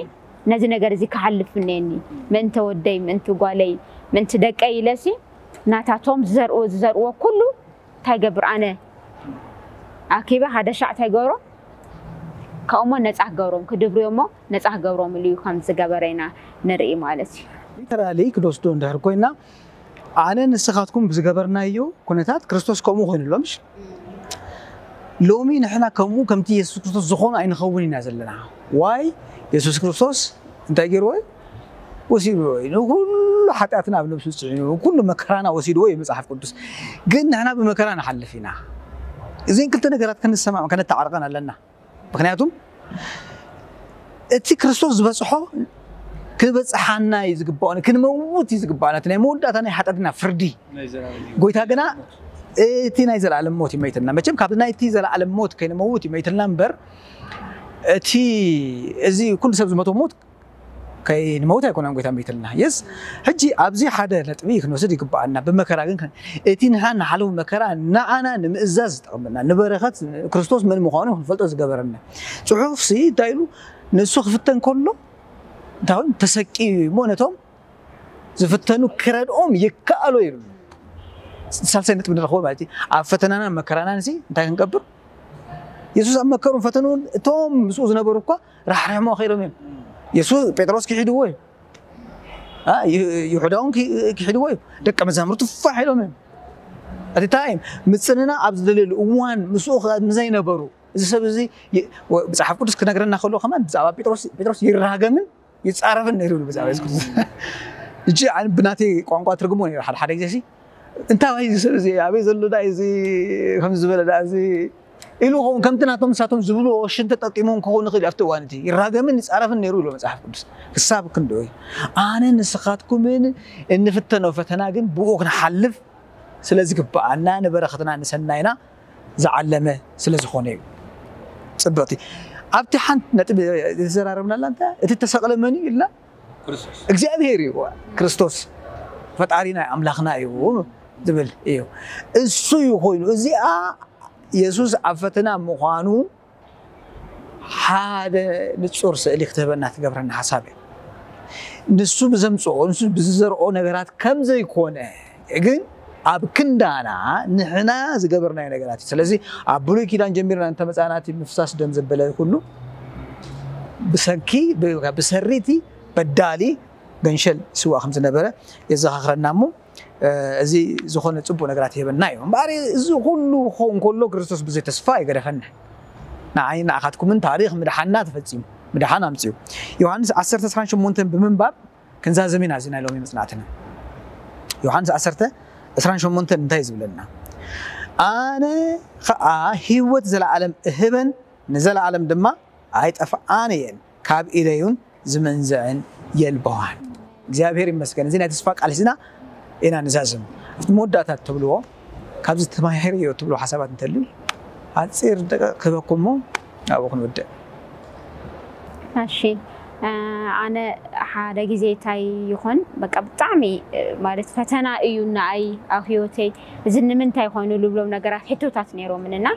ነዚ ነገር እዚ ክሓልፍ እኒአኒ ምእንተ ወደይ ምእንቲ ጓለይ ምእንቲ ደቀይ ኢለ ሲ ናታቶም ዝዘርኡ ዝዘርዎ ኩሉ እንታይ ገብር ኣነ ኣኪበ ሓደ ሻዕ እንታይ ገብሮም ካብኡሞ ነፃ ክገብሮም ክድብርዮሞ ነፃ ክገብሮም ኢሉ እዩ ከም ዝገበረ ኢና ንርኢ ማለት እዩ ሊተራሊ ክድወስዶ እንድሕር ኮይና ኣነ ንስኻትኩም ብዝገበርናዮ ኩነታት ክርስቶስ ከምኡ ኮይኑሎም እሺ ሎሚ ንሕና ከምኡ ከምቲ የሱስ ክርስቶስ ዝኾኑ ኣይንኸውን ኢና ዘለና ዋይ የሱስ ክርስቶስ እንታይ ገይርዎ እዩ ወሲድዎ እዩ ንኩሉ ሓጢኣትና ኣብ ነብሱ ፅዒኑ ኩሉ መከራና ወሲድዎ እዩ መፅሓፍ ቅዱስ ግን ንሕና ብመከራ ንሓልፍ ኢና እዚን ክልተ ነገራት ክንሰማም ከነተዓርቀን ኣለና ምክንያቱም እቲ ክርስቶስ ዝበፅሖ ክበፅሓና እዩ ዝግባኦ ክንመውት እዩ ዝግባና እቲ ናይ መወዳእታ ናይ ሓጢኣትና ፍርዲ ጎይታ ግና እቲ ናይ ዘለኣለም ሞት ይመይትና መቸም ካብ ናይቲ ዘለኣለም ሞት ከይንመውት ይመይትና እምበር እቲ እዚ ኩሉ ሰብ ዝመቶ ሞት ከይንመውት ኣይኮነን ጎይታ መይትልና የስ ሕጂ ኣብዚ ሓደ ነጥቢ ክንወስድ ይግባኣና ብመከራ ግን እቲ ንሓ ንሓለፉ መከራ ንዓና ንምእዛዝ ዝጠቕመና ንበረኸት ክርስቶስ መን ምዃኑ ክንፈልጦ ዝገበረና ፅሑፍ ሲ እንታይ ኢሉ ንሱ ክፍተን ከሎ እንታይ ተሰቂ እሞ ነቶም ዝፍተኑ ክረድኦም ይከኣሎ ይብል ሳልሳይ ነጥቢ ንረኽቦ ማለት እዩ ኣብ ፈተናናን መከራናን ሲ እንታይ ክንገብር የሱስ ኣብ መከሩን ፈተኑን እቶም ምስኡ ዝነበሩ እኳ ራሕሪሖሞ ከይዶም እዮም የሱስ ጴጥሮስ ክሒድዎ እዩ ይሁዳ እውን ክሒድዎ እዩ ደቀ መዛሙርቱ ፋሕ ኢሎም እዮም እቲ ታይም ምጽንና ኣብ ዝደልየሉ እዋን ምስኡ ከ-፣ ምዘይነበሩ፣ እዚ ሰብ እዚ ይ-፣ ወ-፣ መጽሓፍ ቅዱስ ክነግረና ከሎ ከማን ብዛዕባ ጴጥሮስ፣ ጴጥሮስ ይራገምን ይጻረፍን ነይሩ ይብሉ ብዛዕባ የሱስ ክርስቶስ። እጂ ኣነ ብናተይ ቋንቋ ትርጉሞ ነይሩ ሓደ ሓደ ግዜ ሲ፣ እንታይ ዋይ እዚ ሰብ እዚ ኣበይ ዘሎ ዳ እዚ ከምዚ ዝበለ ዳ እዚ ኢሉ ኸውን ከምቲ ናቶም ንሳቶም ዝብልዎ ሽንቲ ጠጢሞም ክኸውን ይኽእል እዩ። ኣብቲ እዋን እቲ ይራገምን ይጻረፍን ነይሩ ይብሎ መጽሓፍ ቅዱስ። ክሳብ ክንድኡ እዩ። ኣነ ንስኻትኩምን እንፍተኖ ፈተና ግን ብኡ ክንሓልፍ ስለ ዝግብኣና ንበረኸትና ንሰናይና ዝዓለመ ስለ ዝኾነ እዩ። ጽብቕቲ ኣብቲ ሓንቲ ነጥቢ ዝተዘራረብናላ እንታይ እቲ ተሰቕለ መን እዩ ኢልና ክርስቶስ እግዚኣብሔር እዩ። ክርስቶስ ፈጣሪና ኣምላኽና እዩ ዝብል እዩ። እሱ እዩ ኮይኑ እዚኣ የሱስ ኣብ ፈተና ምዃኑ ሓደ ንጹር ስእሊ ክትህበና ትገብረና ሓሳብ እዩ። ንሱ ብዘምጽኦ ንሱ ብዝዘርኦ ነገራት ከም ዘይኮነ ግን ኣብ ክንዳና ንሕና ዝገበርናዮ ነገራት እዩ። ስለዚ ኣብ ብሉይ ኪዳን ጀሚርና እንተመጻና እቲ ምፍሳስ ደም ዘበለ ኩሉ ብሰንኪ ብ- ብሰሪቲ በዳሊ ገንሸል ስዋ ከም ዝነበረ የዘኻኽረና እሞ እዚ ዝኾነ ጽቡቕ ነገራት ይህበና እዩ። እምበኣር እዚ ኩሉ ክኸውን ከሎ ክርስቶስ ብዘይ ተስፋ ኣይገደፈና። ንዓይ ንዓኻትኩምን ታሪኽ ምድሓንና ተፈጺሙ ምድሓን ኣምጺኡ። ዮሃንስ ዓሰርተ ዕስራን ሸሞንተን ብምንባብ ክንዛዘም ኢና እዚ ናይ ሎሚ መጽናዕትና። ዮሃንስ ዓሰርተ ዕስራን ሸሞንተን እንታይ እዩ ዝብለና? ኣነ ኸኣ ህይወት ዘለኣለም እህበን ንዘለኣለም ድማ ኣይጠፍኣን እየን ካብ ኢደዩን ዝመንዝዐን የልበዋን። እግዚኣብሔር ይመስገን። እዚ ናይ ተስፋ ቃል ሒዝና ኢና ንዛዝም። ኣብቲ መወዳእታ ትብልዎ ካብዚ ተማሂረዮ ትብልዎ ሓሳባት እንተልዩ ሓፂር ደቂቕ ክህበኩም እሞ ኣብኡ ክንውድእ። እሺ ኣነ ሓደ ግዜ እንታይ ይኾን በቃ ብጣዕሚ ማለት ፈተና እዩ ንኣይ ኣብ ህይወተይ እዚ ንምንታይ ኮይኑ ልብሎም ነገራት ሕቶታት ነይሮምን እና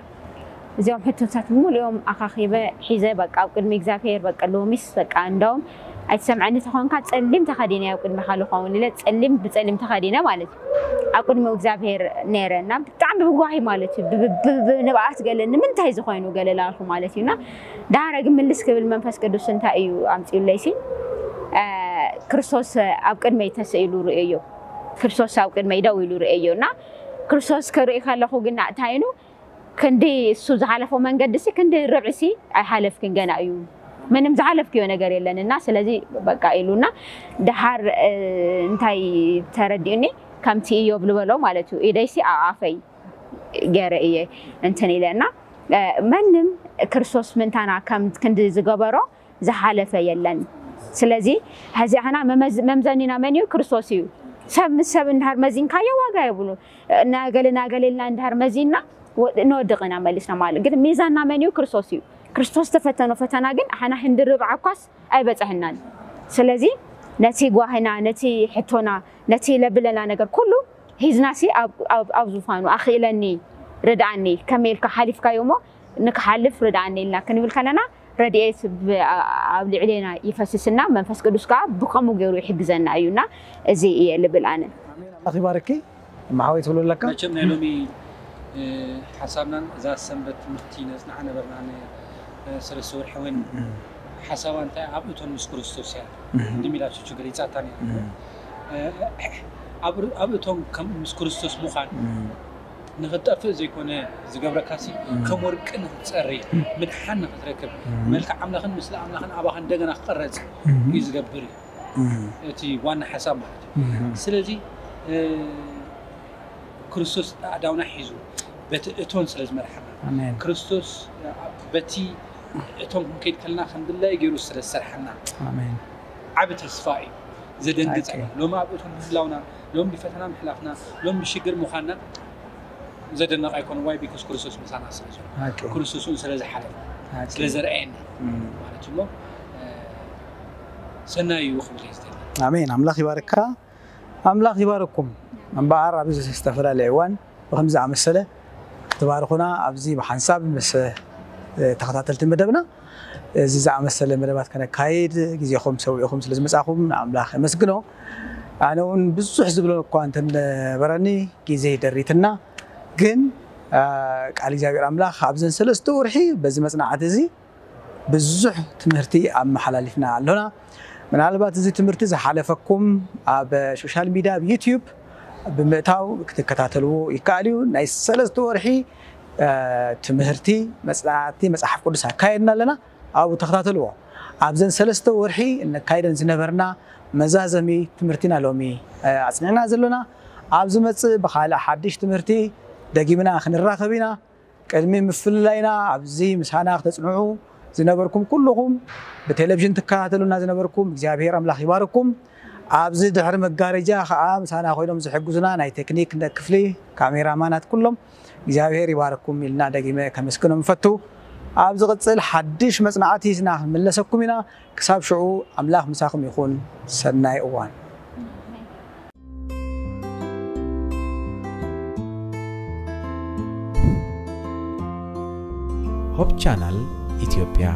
እዚኦም ሕቶታት ብምሉኦም ኣኻኺበ ሒዘ በቃ ኣብ ቅድሚ እግዚኣብሔር በቃ ሎሚስ በቃ እንደውም ኣይትሰምዐኒ ተኾንካ ጸሊም ተኸዲነ ኣብ ቅድሚኻ ልኸውን ኢለ ጸሊም ብጸሊም ተኸዲነ ማለት እዩ ኣብ ቅድሚ እግዚኣብሔር ነይረ እና ብጣዕሚ ብጓሂ ማለት እዩ ንብኣት ገለ ንምንታይ ዝኾይኑ ገለ ላልኩ ማለት እዩ እና ዳሃረ ግን ምልስ ክብል መንፈስ ቅዱስ እንታይ እዩ ኣምፅዩለይ ሲ ክርስቶስ ኣብ ቅድመይ ተስኢሉ ርእዮ ክርስቶስ ኣብ ቅድመይ ደው ኢሉ ርእዮ እና ክርስቶስ ክርኢ ከለኹ ግን እንታይ ኢሉ ክንዲ እሱ ዝሓለፎ መንገዲ ሲ ክንዲ ርብዒ ሲ ኣይሓለፍክን ገና እዩ ምንም ዝሓለፍክዮ ነገር የለን እና ስለዚ በቃ ኢሉና ድሓር እንታይ ተረዲኡኒ ከምቲ እዮብ ዝበሎ ማለት እዩ ኢደይ ሲ ኣኣፈይ ገረ እየ እንትን ኢለ እና መንም ክርስቶስ ምንታና ከም ክንዲ ዝገበሮ ዝሓለፈ የለን ስለዚ ሕዚ ሕና መምዘኒና መን እዩ ክርስቶስ እዩ ሰብ ምስ ሰብ እንድሃር መዚንካዮ ዋጋ የብሉ ናገለ ናገለ ኢልና እንድሃር መዚንና ንወድቕ ኢና መሊስና ማለት ግን ሚዛንና መን እዩ ክርስቶስ እዩ ክርስቶስ ተፈተኖ ፈተና ግን ሕና ህንዲ ርብዓ እኳስ ኣይበፀሐናን ስለዚ ነቲ ጓህና ነቲ ሕቶና ነቲ ለብለና ነገር ኩሉ ሒዝናሲ ኣብ ዙፋኑ ኣኽእለኒ ርድኣኒ ከመይ ኢልካ ሓሊፍካዮ እሞ ንክሓልፍ ርድኣኒ ኢልና ክንብል ከለና ረድኤት ኣብ ልዕሌና ይፈስስና መንፈስ ቅዱስ ከዓ ብከምኡ ገይሩ ይሕግዘና እዩና እዚ እየ ልብል ኣነ ኣኺባርኪ ማሓወይ ትብሉ ኣለካ መቸም ናይ ሎሚ ሓሳብናን እዛ ሰንበት ትምህርቲ ነፅናዓ ነበርና ሰለስተ ወርሒ ወይን ሓሳባ እንታይ ኣብ እቶን ምስ ክርስቶስ እያ ድሚላቸው ችግር ይፃታ ኣብ እቶም ከም ምስ ክርስቶስ ምዃን ንኽትጠፍእ ዘይኮነ ዝገብረካሲ ከም ወርቂ ንኽትፀሪ ምድሓን ንኽትረክብ መልክዕ ኣምላኽን ምስሊ ኣምላኽን ኣባኻ እንደገና ክቐረፅ እዩ ዝገብር እዩ እቲ ዋና ሓሳብ ማለት እዩ ስለዚ ክርስቶስ ኣእዳውና ሒዙ በቲ እቶን ስለ ዝመርሓና ክርስቶስ በቲ እቶን ክንከይድ ከለና ከም ድላይ ገይሩ ስለ ዝሰርሓና ዓብ ተስፋ እዩ ዘደንግፅ ሎሚ ኣብ እቶን ምህላውና ሎም ብፈተና ምሕላፍና ሎም ብሽግር ምዃንና ዘደነቕ ኣይኮነ ዋይ ቢኮስ ክርስቶስ ምሳና ስለ ዘሎ ክርስቶስ እውን ስለ ዝሓለፈ ስለ ዘርኣየና ማለት እሞ ሰናይ እዩ ክብል ዝደሊ ኣሜን ኣምላኽ ይባርካ ኣምላኽ ይባርኩም እምበኣር ኣብዚ ዝተፈላለየ እዋን ብከምዚ ዝኣመሰለ ክትባርኹና ኣብዚ ብሓንሳብ ምስ ተኸታተልቲ መደብና እዚ ዝኣመሰለ መደባት ከነካይድ ግዜኹም ሰዊእኹም ስለ ዝመፃኹም ንኣምላኽ የመስግኖ ኣነ እውን ብዙሕ ዝብሎ እኳ እንተነበረኒ ግዜ ደሪትና ግን ቃል እግዚኣብሔር ኣምላኽ ኣብዘን ሰለስተ ወርሒ በዚ መፅናዕቲ እዚ ብዙሕ ትምህርቲ ኣመሓላሊፍና ኣሎና ምናልባት እዚ ትምህርቲ ዝሓለፈኩም ኣብ ሶሻል ሚድያ ኣብ ዩትዩብ ብምእታው ክትከታተልዎ ይከኣል እዩ። ናይ ሰለስተ ወርሒ ትምህርቲ መፅናዕቲ መፅሓፍ ቅዱስ ኣካየድና ኣለና። ኣብኡ ተኸታተልዎ። ኣብዘን ሰለስተ ወርሒ እነካይደን ዝነበርና መዛዘሚ ትምህርቲና ሎሚ ኣፅኒዕና ዘሎና። ኣብ ዝመፅእ ብካልእ ሓድሽ ትምህርቲ ደጊምና ክንራኸብ ኢና። ቅድሚ ምፍልላይና ኣብዚ ምሳና ክተፅንዑ ዝነበርኩም ኩልኹም፣ ብቴሌቪዥን ትከታተሉና ዝነበርኩም እግዚኣብሔር ኣምላኽ ይባርኩም። ኣብዚ ድሕሪ መጋረጃ ከዓ ምሳና ኮይኖም ዝሕግዙና ናይ ቴክኒክ ክፍሊ፣ ካሜራማናት ኩሎም እግዚኣብሔር ይባርኩም ኢልና ደጊመ ከመስግኖም እፈቱ። ኣብ ዝቕፅል ሓድሽ መፅናዕቲ ስና ክንምለሰኩም ኢና። ክሳብ ሽዑ ኣምላኽ ምሳኹም ይኹን። ሰናይ እዋን። ሆፕ ቻናል ኢትዮጵያ።